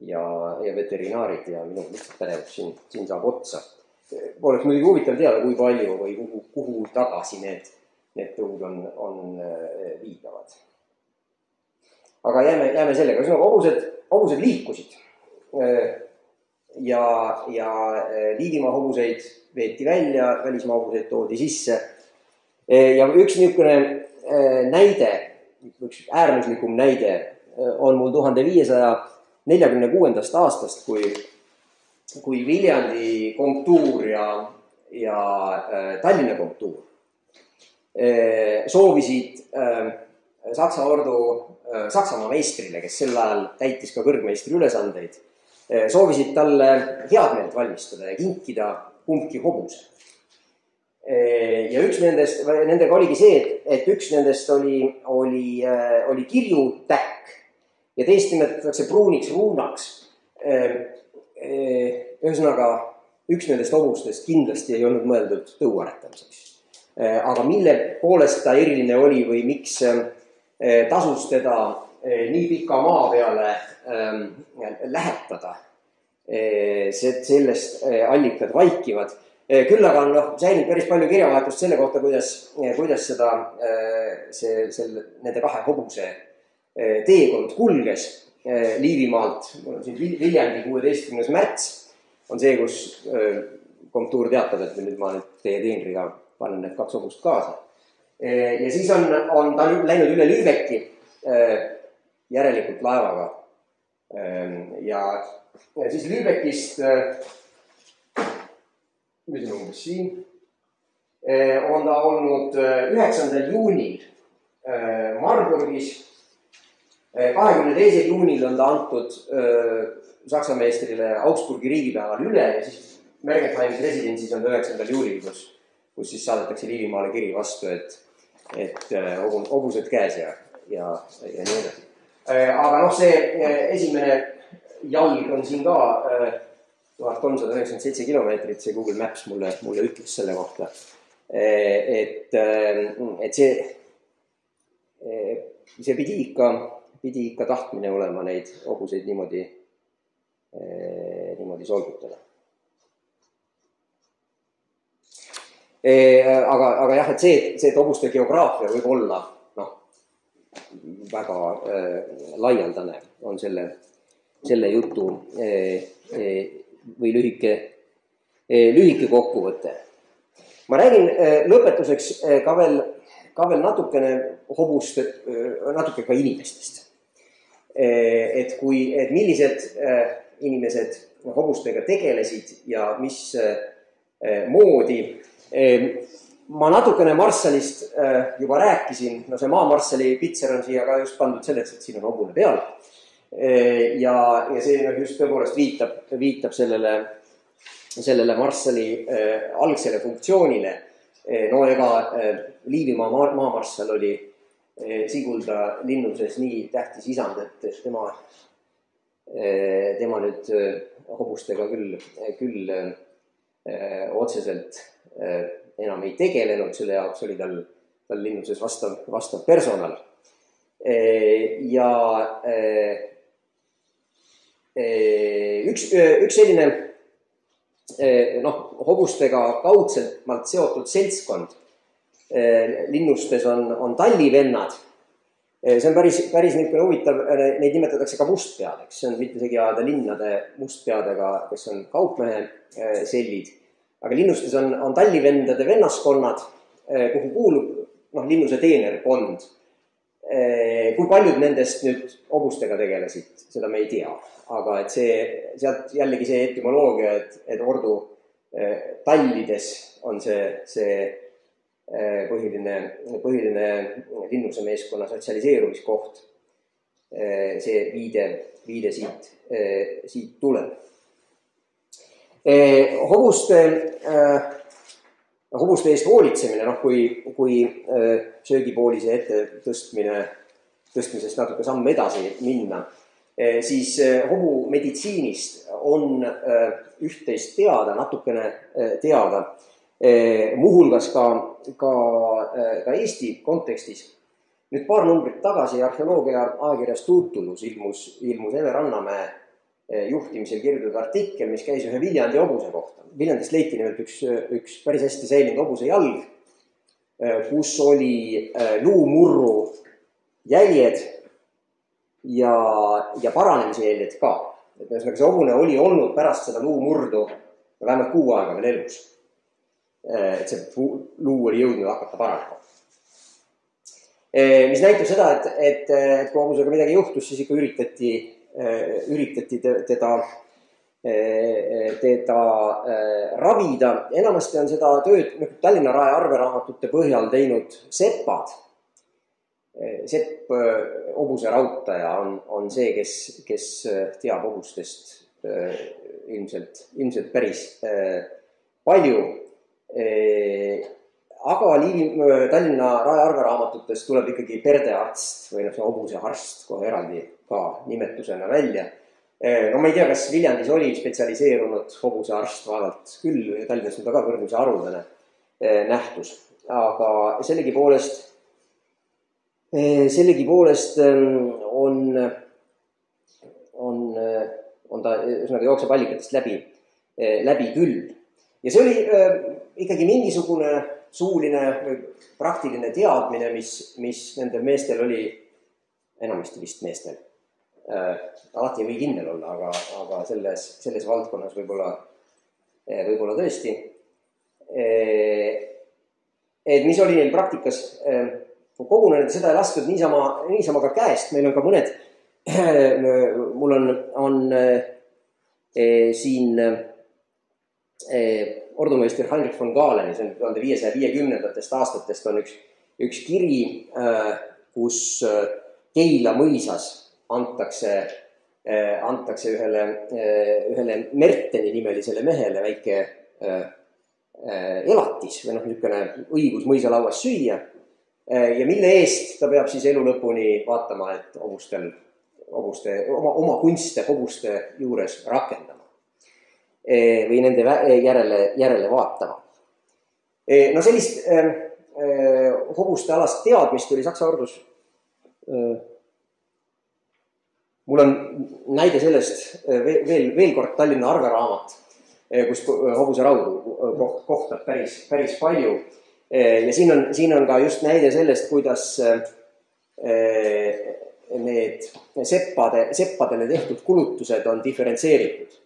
ja, ja veterinaarid ja minu lihtsalt pädevus siin, siin saab otsa. Oleks muidugi huvitav teada, kui palju või kuhu, kuhu tagasi need, need tõud on, on viidavad. Aga jääme, jääme sellega. Hobused, hobused liikusid ja, ja Liivimaa hobuseid veeti välja, välismaa hobuseid toodi sisse. Ja üks niisugune näide, üks äärmuslikum näide on mul tuhande viiesaja neljakümne kuuendast aastast, kui kui Viljandi komtuur ja, ja äh, Tallinna komtuur äh, soovisid äh, Saksa ordu äh, Saksamaa meistrile, kes sel ajal täitis ka kõrgmeistri ülesandeid, äh, soovisid talle head meelt valmistada ja kinkida kumbki hobuse. ja üks nendest, nendega oligi see, et, et üks nendest oli, oli, oli kirjutäkk ja teist nimetatakse pruuniks ruunaks. Ühesõnaga, üks nendest hobustest kindlasti ei olnud mõeldud tõuaretamiseks. Aga mille poolest ta eriline oli või miks tasus teda nii pika maa peale lähetada, sellest allikad vaikivad. Küll aga on no, säilinud päris palju kirjavahetust selle kohta, kuidas, kuidas seda, see, selle, nende kahe hobuse teekond kulges Liivimaalt. Mul on siin Viljandi kuueteistkümnes märts on see, kus komtuur teatab, et nüüd ma nüüd teie teenriga panen need kaks hobust kaasa. Ja siis on, on ta läinud üle Lübecki järelikult laevaga. Ja, ja siis Lübeckist mis on umbes siin, on ta olnud üheksandal juunil Marburgis. kahekümne teisel juunil on ta antud Saksa meistrile Augsburgi riigipäeval üle ja siis Mergentheimis residentsis on ta üheksandal juulil, kus, kus siis saadetakse Liivimaale kiri vastu, et, et hobused käes ja, ja, ja nii edasi. Aga noh, see esimene jalg on siin ka tuhat kolmsada üheksakümmend seitse kilomeetrit, see Google Maps mulle, mulle ütles selle kohta. Et, et see, see pidi ikka, pidi ikka tahtmine olema neid hobuseid niimoodi, niimoodi solgutada. Aga, aga jah, et see, see, et hobuste geograafia võib olla no, väga laialdane on selle, selle jutu või lühike, lühike kokkuvõte. Ma räägin lõpetuseks ka veel, ka veel natukene hobust, natuke ka inimestest. Et, kui, et millised inimesed hobustega tegelesid ja mis moodi. Ma natukene Marsalist juba rääkisin, no see maamarssali pitser on siia ka just pandud selleks, et siin on hobune peal. Ja, ja see just tõepoolest viitab, viitab sellele, sellele marssali äh, algsele funktsioonile. No ega äh, Liivimaa maamarssal oli äh, Sigulda linnuses nii tähtis isand, et tema, äh, tema nüüd äh, hobustega küll, küll äh, otseselt äh, enam ei tegelenud, selle jaoks oli tal, tal linnuses vastav, vastav personal. Äh, ja äh, Üks, üks selline noh, hobustega kaudselt seotud seltskond linnustes on, on tallivennad. See on päris, päris niisugune huvitav, neid nimetatakse ka mustpeadeks. See on mitte segi ajada linnade mustpeadega, kes on kaupmehe sellid. Aga linnustes on, on tallivendade vennaskonnad, kuhu kuulub noh, linnuse teenerkond. Kui paljud nendest nüüd hobustega tegelesid, seda me ei tea. Aga et see, sealt jällegi see etümoloogia, et, et ordu eh, tallides on see, see eh, põhiline, põhiline linnuse meeskonna sotsialiseerumiskoht. Eh, see viide, viide siit, eh, siit tuleb. Eh, hobuste, eh, hobuste eest hoolitsemine, noh, kui, kui eh, söögipoolise ette tõstmine, tõstmisest natuke samm edasi minna, siis hobu meditsiinist on üht-teist teada, natukene teada, muuhulgas ka, ka, ka Eesti kontekstis. Nüüd paar numbrit tagasi arheoloogia ajakirjas Tutulus ilmus, ilmus Eve Rannamäe juhtimisel kirjutatud artikkel, mis käis ühe Viljandi hobuse kohta. Viljandist leiti nimelt üks, üks päris hästi säilinud hobuse jalg, kus oli luumurru jäljed ja, ja paranemise jäljed ka. Et ühesõnaga see hobune oli olnud pärast seda luumurdu vähemalt kuu aega veel elus. Et see luu oli jõudnud hakata paranema. Mis näitab seda, et, et, et kui hobusega midagi juhtus, siis ikka üritati, üritati teda, teda ravida. Enamasti on seda tööd Tallinna Rae arveraamatute põhjal teinud seppad. Sepp hobuse rautaja on, on see, kes, kes teab hobustest ilmselt, ilmselt päris palju. Aga Liivi, Tallinna Rae arveraamatutes tuleb ikkagi perdearst või noh, see hobusearst kohe eraldi ka nimetusena välja. No ma ei tea, kas Viljandis oli spetsialiseerunud hobusearst, vaevalt küll, Tallinnas on ta ka võrdlemisi haruldane nähtus. Aga sellegi poolest, sellegi poolest on, on, on ta üsnagi jookseb allikatest läbi, läbi küll. Ja see oli ikkagi mingisugune suuline või praktiline teadmine, mis, mis nendel meestel oli, enamasti vist meestel, äh, alati ei või kindel olla, aga, aga selles, selles valdkonnas võib-olla, võib-olla tõesti. Et mis oli neil praktikas kogunenud, seda ei lastud niisama, niisama ka käest, meil on ka mõned, mul on, on eh, siin eh, ordumeister Heinrich von Gaaleni, see on tuhande viiesaja viiekümnendatest aastatest on üks, üks kiri, kus Keila mõisas antakse, antakse ühele, ühele Merteni nimelisele mehele väike elatis või noh, niisugune õigus mõisalauas süüa ja mille eest ta peab siis elu lõpuni vaatama, et hobustel, hobuste, oma, oma kunste hobuste juures rakendama. Või nende järele, järele vaatama. No sellist äh, hobuste alast teadmist oli Saksa ordus. Äh, mul on näide sellest veel, veel kord Tallinna arveraamat, kus hobuse raudu kohtab päris, päris palju. Ja siin on, siin on ka just näide sellest, kuidas äh, need seppade, seppadele tehtud kulutused on diferentseeritud.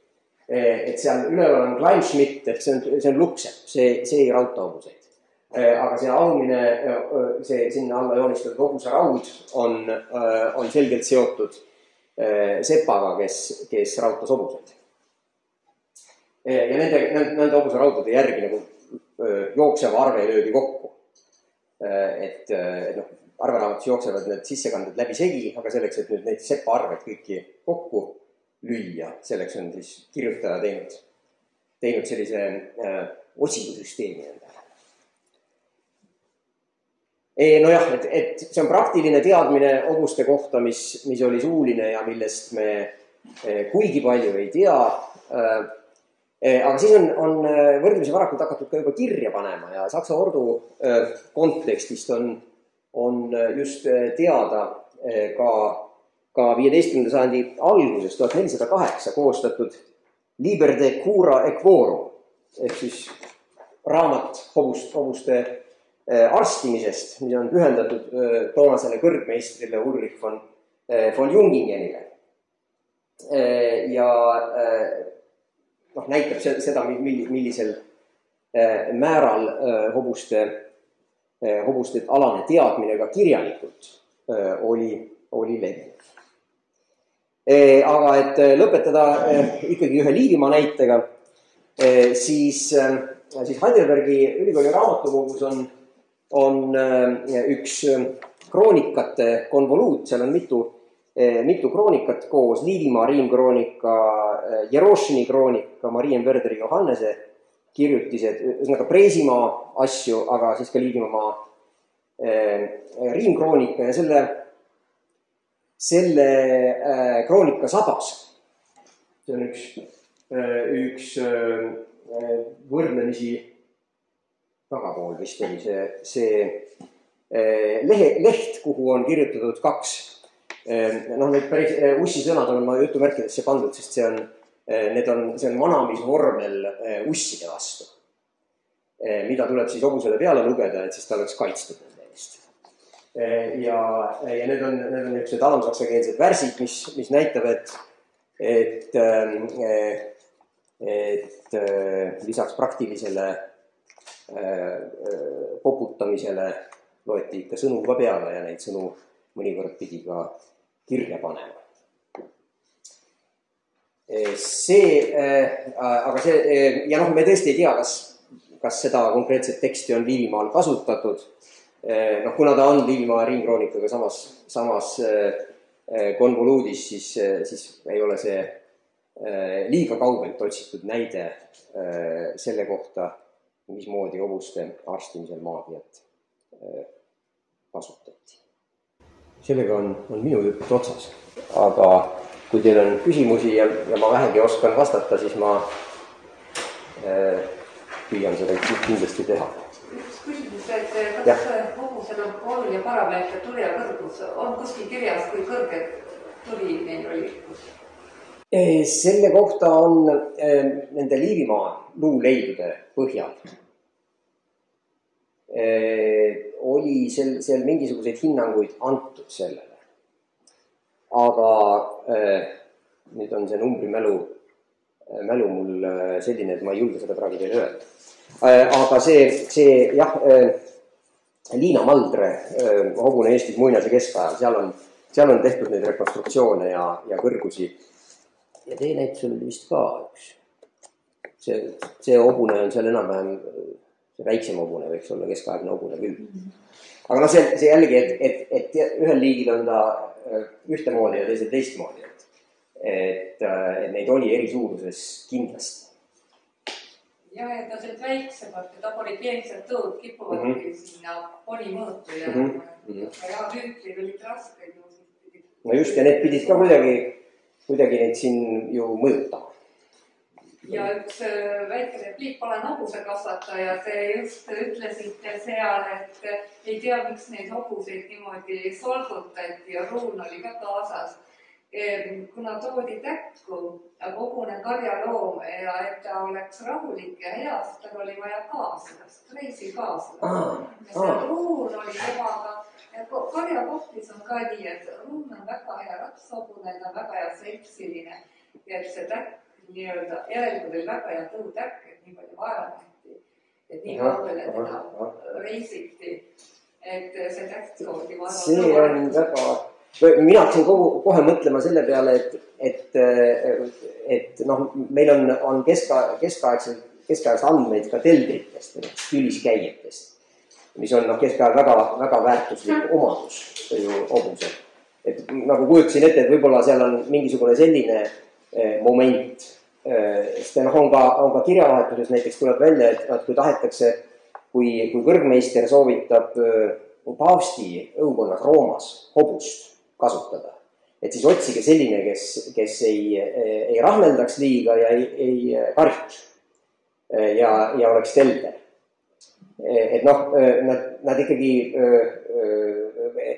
Et seal üleval on Kleinschmidt, ehk see on, see on luksepp, see, see ei rauta hobuseid. Aga see aumine, see sinna alla joonistatud hobuse raud on, on selgelt seotud sepaga, kes, kes rautas hobuseid. Ja nende, nende hobuse raudade järgi nagu jookseva arve löödi kokku. Et, et noh, arveraamatus jooksevad need sissekanded läbi segi, aga selleks, et nüüd neid sepa arved kõiki kokku lüüa, selleks on siis kirjutaja teinud, teinud sellise äh, otsingusüsteemi endale. E, no jah, et, et see on praktiline teadmine hobuste kohta, mis, mis oli suuline ja millest me eh, kuigi palju ei tea. Äh, eh, aga siis on, on võrdlemisi varakult hakatud ka juba kirja panema ja Saksa ordu äh, kontekstist on, on just teada äh, ka ka viieteistkümnenda sajandi alguses, tuhat nelisada kaheksa koostatud Liber de cura equorum, ehk siis raamat hobust, hobuste arstimisest, mis on pühendatud toonasele kõrgmeistrile Ulrich von, von Jungingenile. Ja noh, näitab seda, millisel määral hobuste, hobuste alane teadmine ka kirjalikult oli, oli levinud. Aga et lõpetada ikkagi ühe Liivimaa näitega, siis, siis Heidelbergi ülikooli raamatukogus on, on üks kroonikate konvoluut, seal on mitu, mitu kroonikat koos, Liivimaa riimkroonika, Jerošini kroonika, Marien Werderi Johannese kirjutised, ühesõnaga Preisimaa asju, aga siis ka Liivimaa riimkroonika ja selle selle äh, kroonika sabas. See on üks, äh, üks äh, võrdlemisi tagapool vist oli see, see äh, lehe, leht, kuhu on kirjutatud kaks. Äh, noh, need päris äh, ussi sõnad on ma jutumärkidesse pandud, sest see on, äh, need on, see on manamisvormel äh, usside vastu, äh, mida tuleb siis hobusele peale lugeda, et siis ta oleks kaitstud. Ja, ja need on, need on niisugused alamsaksakeelsed värsid, mis, mis näitab, et, et, et lisaks praktilisele poputamisele loeti ikka sõnu ka peale ja neid sõnu mõnikord pidi ka kirja panema. See, aga see, ja noh, me tõesti ei tea, kas, kas seda konkreetset teksti on Liivimaal kasutatud. Noh, kuna ta on Liivimaa riimkroonikaga samas, samas konvoluudis, siis, siis ei ole see liiga kaugelt otsitud näide selle kohta, mismoodi hobuste arstimisel maagiat kasutati. Sellega on, on minu jutt otsas, aga kui teil on küsimusi ja, ja ma vähegi oskan vastata, siis ma äh, püüan seda kindlasti teha. Üks küsimus, et kas hobusel on kool ja parameeter tuli ja kõrgus on kuskil kirjas, kui kõrged tuli neil oli? Selle kohta on nende Liivimaa luuleidude põhjal. Oli seal, seal mingisuguseid hinnanguid antud sellele. Aga nüüd on see numbri mälu, mälu mul selline, et ma ei julge seda praegu teile öelda. Aga see, see jah, Liina Maldre, hobune Eestis muinase keskajal, seal on, seal on tehtud neid rekonstruktsioone ja, ja kõrgusi. Ja teie näitusel oli vist ka üks. See, see hobune on seal enam-vähem, see väiksem hobune võiks olla keskaegne hobune küll. Aga no see, see jällegi, et, et, et ühel liigil on ta ühtemoodi ja teisel teistmoodi. Et, et, et neid oli eri suuruses kindlasti. Ja, et ta sealt väiksemalt, et ta oli piensed tõud, kipuvad mm -hmm. sinna poni mõõtu ja, mm -hmm. ja tüüklid olid rasked. No just, ja need pidid ka kuidagi kuidagi neid siin ju mõjutama. Ja üks väike repliik, olen hobusekasvataja, te just ütlesite seal, et ei tea, miks neid hobuseid niimoodi solgutati ja ruun oli ka kaasas. Kuna toodi täkku, hobune karjaloom ja et ta oleks rahulik ja heast, tal oli vaja kaaslast, reisi kaaslast. Ah, ja see ruun oli temaga. Karjakohtis on ka nii, et ruun on väga hea ratshobune, ta on väga hea seltsiline ja et see täkk nii-öelda järelikult oli väga hea tõutäkk, et nii palju vaeva nähti, et nii kaugele teda reisiti, et see täkk toodi vaeva. See on väga... Mina hakkasin kogu, kohe mõtlema selle peale, et, et, et noh, meil on, on keska, keskaegselt, keskaegselt andmeid ka teldritest, tüliskäijatest. Mis on noh, keskajal väga, väga väärtuslik omadus ju hobusel. Et nagu kujutasin ette, et võib-olla seal on mingisugune selline eh, moment, eh, sest noh, on ka, on ka kirjavahetuses näiteks tuleb välja, et, et kui tahetakse, kui, kui kõrgmeister soovitab eh, paavsti õukonnas Roomas hobust kasutada, et siis otsige selline, kes, kes ei, ei rahmeldaks liiga ja ei, ei karjuks ja, ja oleks telder. Et noh, nad, nad ikkagi,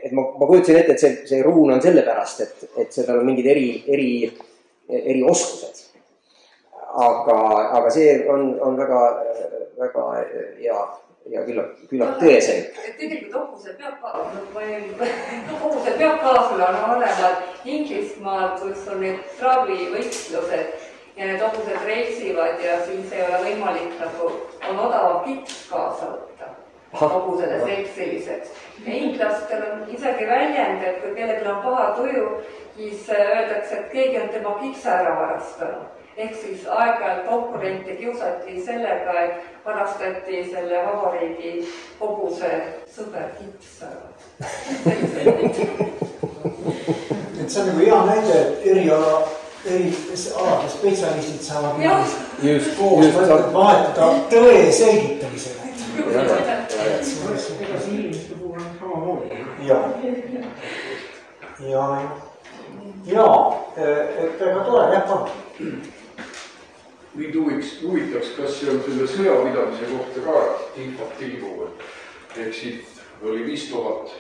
et ma, ma kujutasin ette, et see, see ruun on selle pärast, et, et seal on mingid eri, eri, eri oskused. Aga, aga see on, on väga, väga hea ja küllap, küllap tõesem. Et tegelikult hobusel peab ka, hobusel peab kaasule on olevad Inglismaal, kus on need travivõistlused ja need hobused reisivad ja siis ei ole võimalik nagu on odavam kips kaasa võtta hobusele seltsiliseks. Ja inglastel on isegi väljend, et kui kellelgi on paha tuju, siis öeldakse, et keegi on tema kipsa ära varastanud. Ehk siis aeg-ajalt konkurente kiusati sellega, et varastati selle vabariigi hobuse sõber kips ära. Et see on nagu hea näide, et eriala eri alade spetsialistid saavad just, koos just, vahetada tõe selgitamisega. Ja, ja, ja. Ega see inimeste puhul on samamoodi. Ja, ja, ja, et väga tore, jah, palun. Mind huvitaks, kas see on selle sõjapidamise kohta ka infot tilgu, ehk siit oli viis tuhat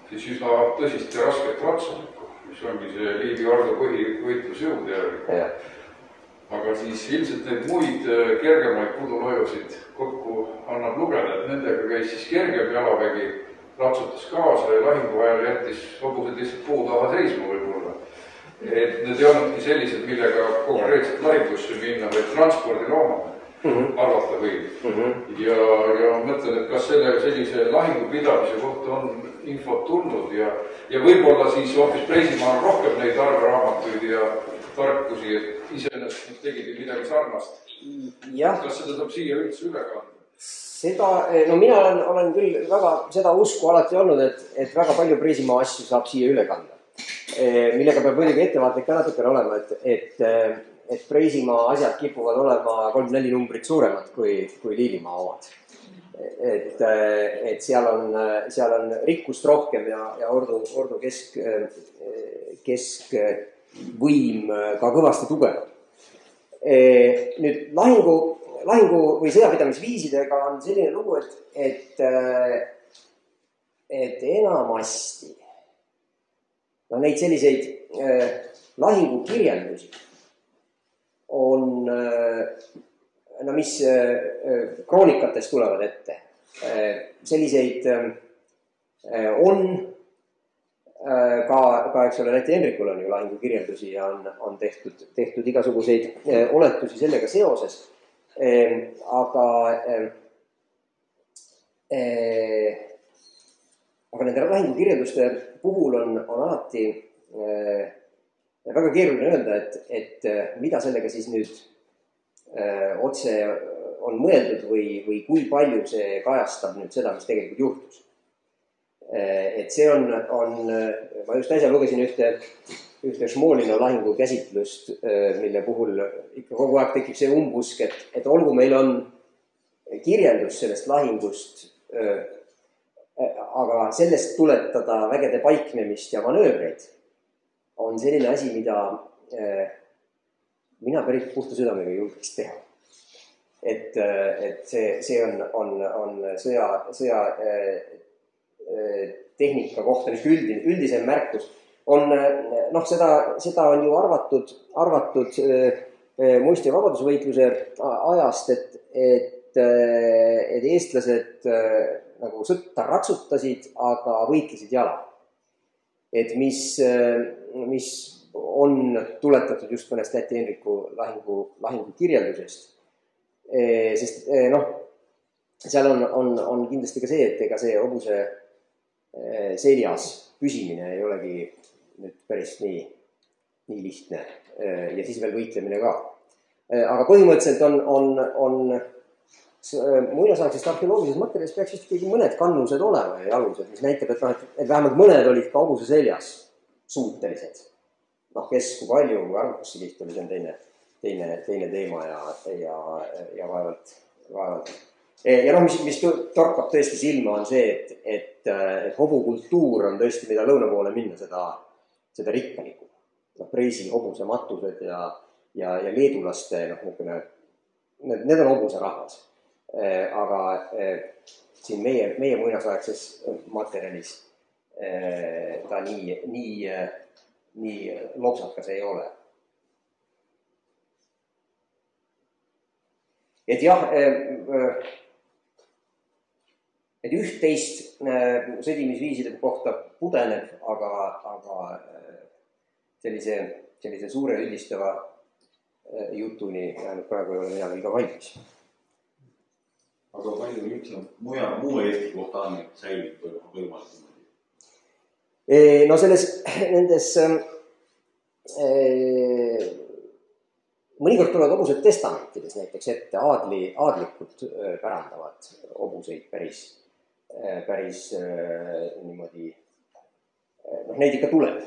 siis üsna tõsist ja rasket ratsunikku, mis ongi see Liivi Ardo põhivõitlusjõud järgi. Aga siis ilmselt neid muid kergemaid pudulojusid kokku annab lugeda, et nendega käis siis kergem jalavägi, ratsutas kaasa ja lahingu ajal jättis hobused lihtsalt puu taha seisma võib-olla. Et need ei olnudki sellised, millega konkreetselt lahingusse minna, vaid transpordiloomad mm -hmm. arvata võib. Mm -hmm. ja, ja mõtlen, et kas selle sellise lahingu pidamise kohta on infot tulnud ja, ja võib-olla siis hoopis Preisimaal rohkem neid arvraamatuid ja tarkusi, et iseenesest nad tegid midagi sarnast. Kas seda saab siia üldse üle kanda? Seda, no mina olen, olen küll väga seda usku alati olnud, et, et väga palju Preisimaa asju saab siia üle kanda. Millega peab muidugi ettevaatlik ka natukene olema, et, et, et Preisimaa asjad kipuvad olema kolm neli numbrit suuremad kui, kui Liivimaa omad. Et, et seal on, seal on rikkust rohkem ja, ja Ordu, Ordu kesk, keskvõim ka kõvasti tugev. Nüüd lahingu, lahingu või sõjapidamisviisidega on selline lugu, et, et, et enamasti no neid selliseid eh, lahingukirjeldusi on, no mis eh, kroonikatest tulevad ette. Eh, selliseid eh, on eh, ka, ka, eks ole, näite Henrikul on ju lahingukirjeldusi ja on, on tehtud, tehtud igasuguseid eh, oletusi sellega seoses. Eh, aga eh, eh, aga nende lahingukirjelduste puhul on, on alati äh, väga keeruline öelda, et, et mida sellega siis nüüd äh, otse on mõeldud või, või kui palju see kajastab nüüd seda, mis tegelikult juhtus. Äh, et see on, on, ma just äsja lugesin ühte, ühte Šmolina lahingu käsitlust, äh, mille puhul ikka kogu aeg tekib see umbusk, et, et olgu meil on kirjeldus sellest lahingust äh, aga sellest tuletada vägede paiknemist ja manöövreid on selline asi, mida eh, mina päris puhta südamega julgeks teha. Et, et see, see on, on, on sõja, sõja eh, tehnika kohta nüüd üldine, üldisem märkus. On, noh, seda, seda on ju arvatud, arvatud eh, muist- ja vabadusvõitluse ajast, et, et, et eestlased eh, nagu sõtta ratsutasid, aga võitlesid jala. Et mis, mis on tuletatud just mõnest Läti Henriku lahingu, lahingu kirjeldusest. Sest noh, seal on, on, on kindlasti ka see, et ega see hobuse seljas püsimine ei olegi nüüd päris nii, nii lihtne. Ja siis veel võitlemine ka. Aga põhimõtteliselt on, on, on muinasaegsest arheoloogilisest materjalist peaks vist ikkagi mõned kannused olema ja alused, mis näitab, et, et, et vähemalt mõned olid ka hobuse seljas suutelised. Noh, kes kui palju, kui arvukusse kiht oli, see on teine, teine, teine teema ja, ja, ja vaevalt, vaevalt. Ja noh, mis, mis torkab tõesti silma on see, et, et, et hobukultuur on tõesti, mida lõuna poole minna, seda, seda rikkalikum. No, Preisi hobuse matused ja, ja, ja leedulaste, noh, niisugune, need, need on hobuse rahvas. Aga siin meie, meie muinasaegses materjalis ta nii, nii, nii lopsakas ei ole. Et jah, et üht-teist sõdimisviiside kohta pudeneb, aga, aga sellise, sellise suure üldistava jutuni jäänud praegu ei ole mina veel ka valmis. Aga palju üldse mujal, muu Eesti kohta on säilib võimalik? No selles, nendes e, mõnikord tulevad hobused testamentides näiteks ette, aadli, aadlikud pärandavad hobuseid päris, päris niimoodi, noh neid ikka tuleb.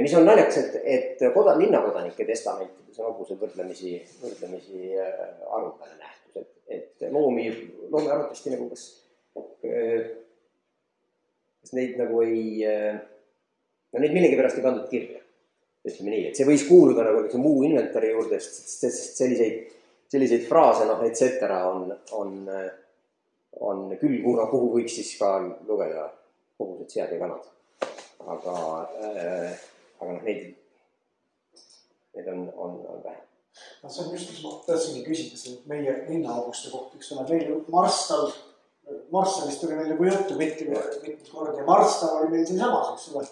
Mis on naljakas, et, et koda, linnakodanike testamentides on hobuse võrdlemisi, võrdlemisi arvukane nähtus. Et, et loomi, loomi arvatavasti nagu kas, kas neid nagu ei, no neid millegipärast ei pandud kirja. Ütleme nii, et see võis kuuluda nagu muu inventari juurde, sest selliseid, selliseid fraase, noh, et cetera on, on, on küll, kuna kuhu võiks siis ka lugeda hobused, sead ja kanad. Aga, äh, aga noh, neid, neid on, on, on vähe. No see on just, mis ma tahtsingi küsida siin meie linnahobuste kohta, eks ole, meil Marstal, Marstalist oli meil nagu juttu mitmed kord ja Marstal oli meil siin samas, eks ole,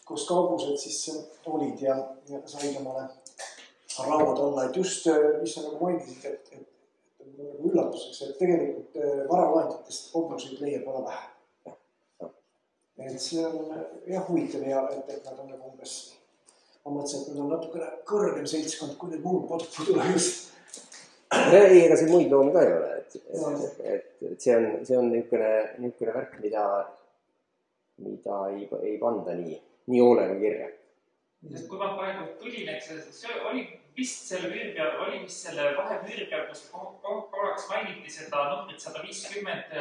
kus ka hobused siis olid ja, ja said omale rauad olla, et just, mis sa nagu mainisid, et, et, et nagu üllatuseks, et tegelikult varalahenditest hobuseid leiab väga vähe. Et see on jah huvitav ja et, et nad on nagu umbes ma mõtlesin, et nad on natukene kõrgem seltskond, kui need muud podpudula just. Ei, ega see muid loomi ka ei ole, et, et, et, et see on, see on niisugune, niisugune värk, mida, mida ei, ei panda nii, nii hoolega kirja. Kui ma praegu tulin, et see oli vist selle müüri peal, oli vist selle vahe müüri peal, kus korraks mainiti seda numbrit sada viiskümmend,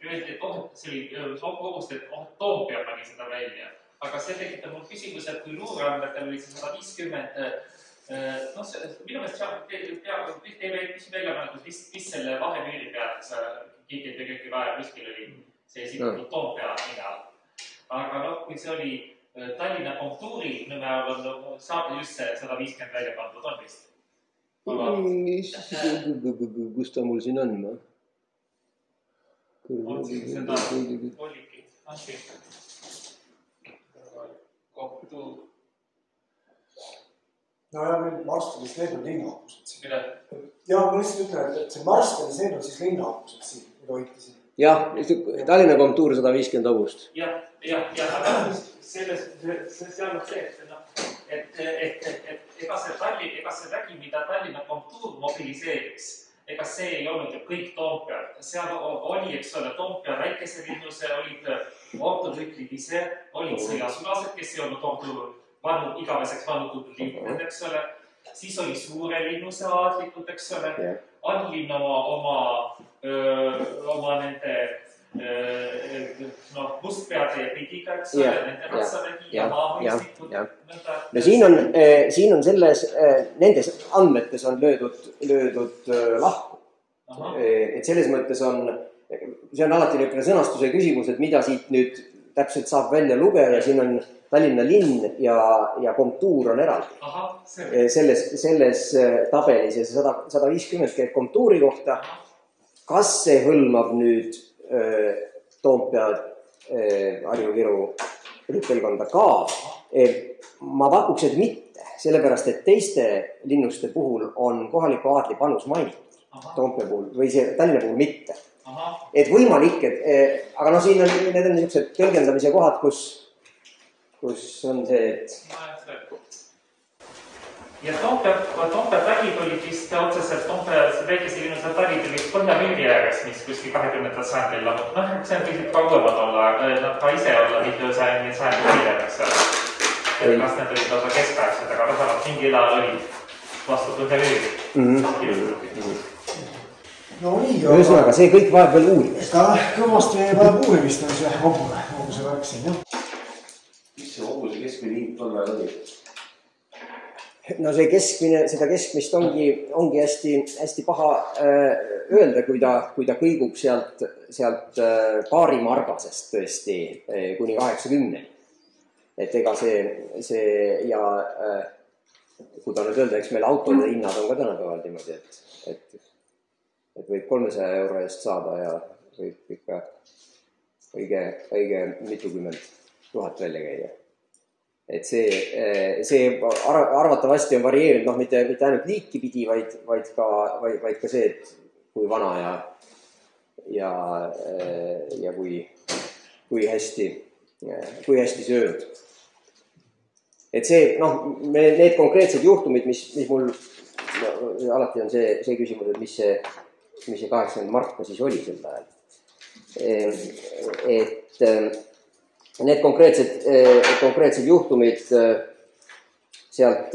öeldi, et oh, see oli kogust, et oh, Toompea pani seda välja. Aga see tekitab mul küsimus, et kui luureandmetel oli see sada viiskümmend, noh, minu meelest tihti ei küsi välja, mis selle vahe müüri peal, keegi tegelikult vaja kuskil oli see esitatud Toompea nina. Aga noh, kui see oli Tallinna kontuuri nõme all on saab just see sada viiskümmend välja pandud, on vist? Kus ta mul siin on? On siin seda oligi. Kontuur. No ja meil Marstalis need on linnaopused siin. Mida? Ja ma lihtsalt ütlen, et see Marstalis need on siis linnaopused siin, mida hoiti siin. Jah, Tallinna kontuur sada viiskümmend august. Jah, jah, jah, aga selles, seal on see, et, no, et, et, et, et ega see Tallinn, ega see vägi, mida Tallinna kontuur mobiliseeriks, ega see ei olnud ju kõik Toompeal. Seal oli, eks ole, Toompea väikese linnuse, olid ortodüklid ise, olid sõjasulased, kes ei olnud ordu vanu, igaveseks vanutud liikunud, eks ole. Siis oli suure linnuse aadlikud, eks ole. Anlin oma, oma, öö, oma nende no, mustpeade ja pidiga, eks ole, nende ratsavägi ja maamõistikud. No siin on, siin on selles, nendes andmetes on löödud, löödud lahku. Aha. Et selles mõttes on, see on alati niisugune sõnastuse küsimus, et mida siit nüüd täpselt saab välja lugeda, siin on Tallinna linn ja, ja kontuur on eraldi. Aha, selles, selles tabelis ja see sada viiskümmend käib kontuuri kohta. Kas see hõlmab nüüd öö, Toompea Harju-Viru rüppelkonda ka? Ma pakuks, et mitte, sellepärast, et teiste linnuste puhul on kohaliku aadli panus mainitud. Toompea puhul või see Tallinna puhul mitte. Aha. Et võimalik, et, aga no siin on, need on niisugused tõlgendamise kohad, kus kus on see, et... Ja Toompea, Toompea talid olid vist otseselt Toompea väikese linnuse talid olid Põhja-Müüri ääres, mis kuskil kahekümnendal sajandil lamut. Noh, see on pisut kaugemad olla, nad ka ise olla mitte sajandi hiljem, eks ole. Et kas need olid lausa keskaegsed, aga vähemalt mingi ila olid vastu Põhja-Müüri. Mm-hmm. No nii, aga... Ühesõnaga, see kõik vajab veel uurimist. Ka kõvasti vajab uurimist on see kogu, kogu see värk siin, jah. Mis see hobuse keskmine hind tol ajal oli? No see keskmine, seda keskmist ongi, ongi hästi, hästi paha äh, öelda, kui ta, kui ta kõigub sealt, sealt äh, paari margasest tõesti äh, kuni kaheksakümne. Et ega see, see ja äh, kui ta nüüd öelda, eks meil autode hinnad on ka tänapäeval niimoodi, et, et, et võib kolmesaja euro eest saada ja võib ikka õige, õige mitukümmend tuhat välja käia. Et see, see arvatavasti on varieerinud, noh, mitte, mitte ainult liiki pidi, vaid, vaid, ka, vaid, vaid ka see, et kui vana ja, ja, ja kui, kui hästi, kui hästi söönud. Et see, noh, need konkreetsed juhtumid, mis, mis mul no, alati on see, see küsimus, et mis see, mis see kaheksakümmend marka siis oli sel ajal. Et need konkreetsed, konkreetsed juhtumid sealt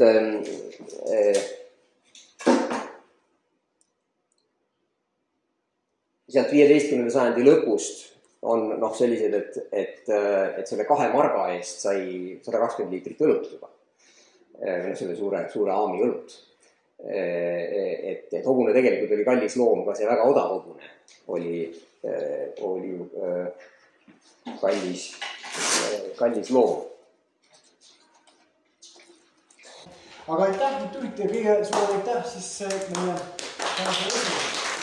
sealt viieteistkümnenda sajandi lõpust on noh, sellised, et, et, et selle kahe marga eest sai sada kakskümmend liitrit õlut juba. Selle suure, suure aami õlut. Et, et hobune tegelikult oli kallis loom, ka see väga odav hobune oli, oli kallis kallis loom. Aga aitäh, nüüd tulite kõige suurem aitäh siis meie tänase esimene.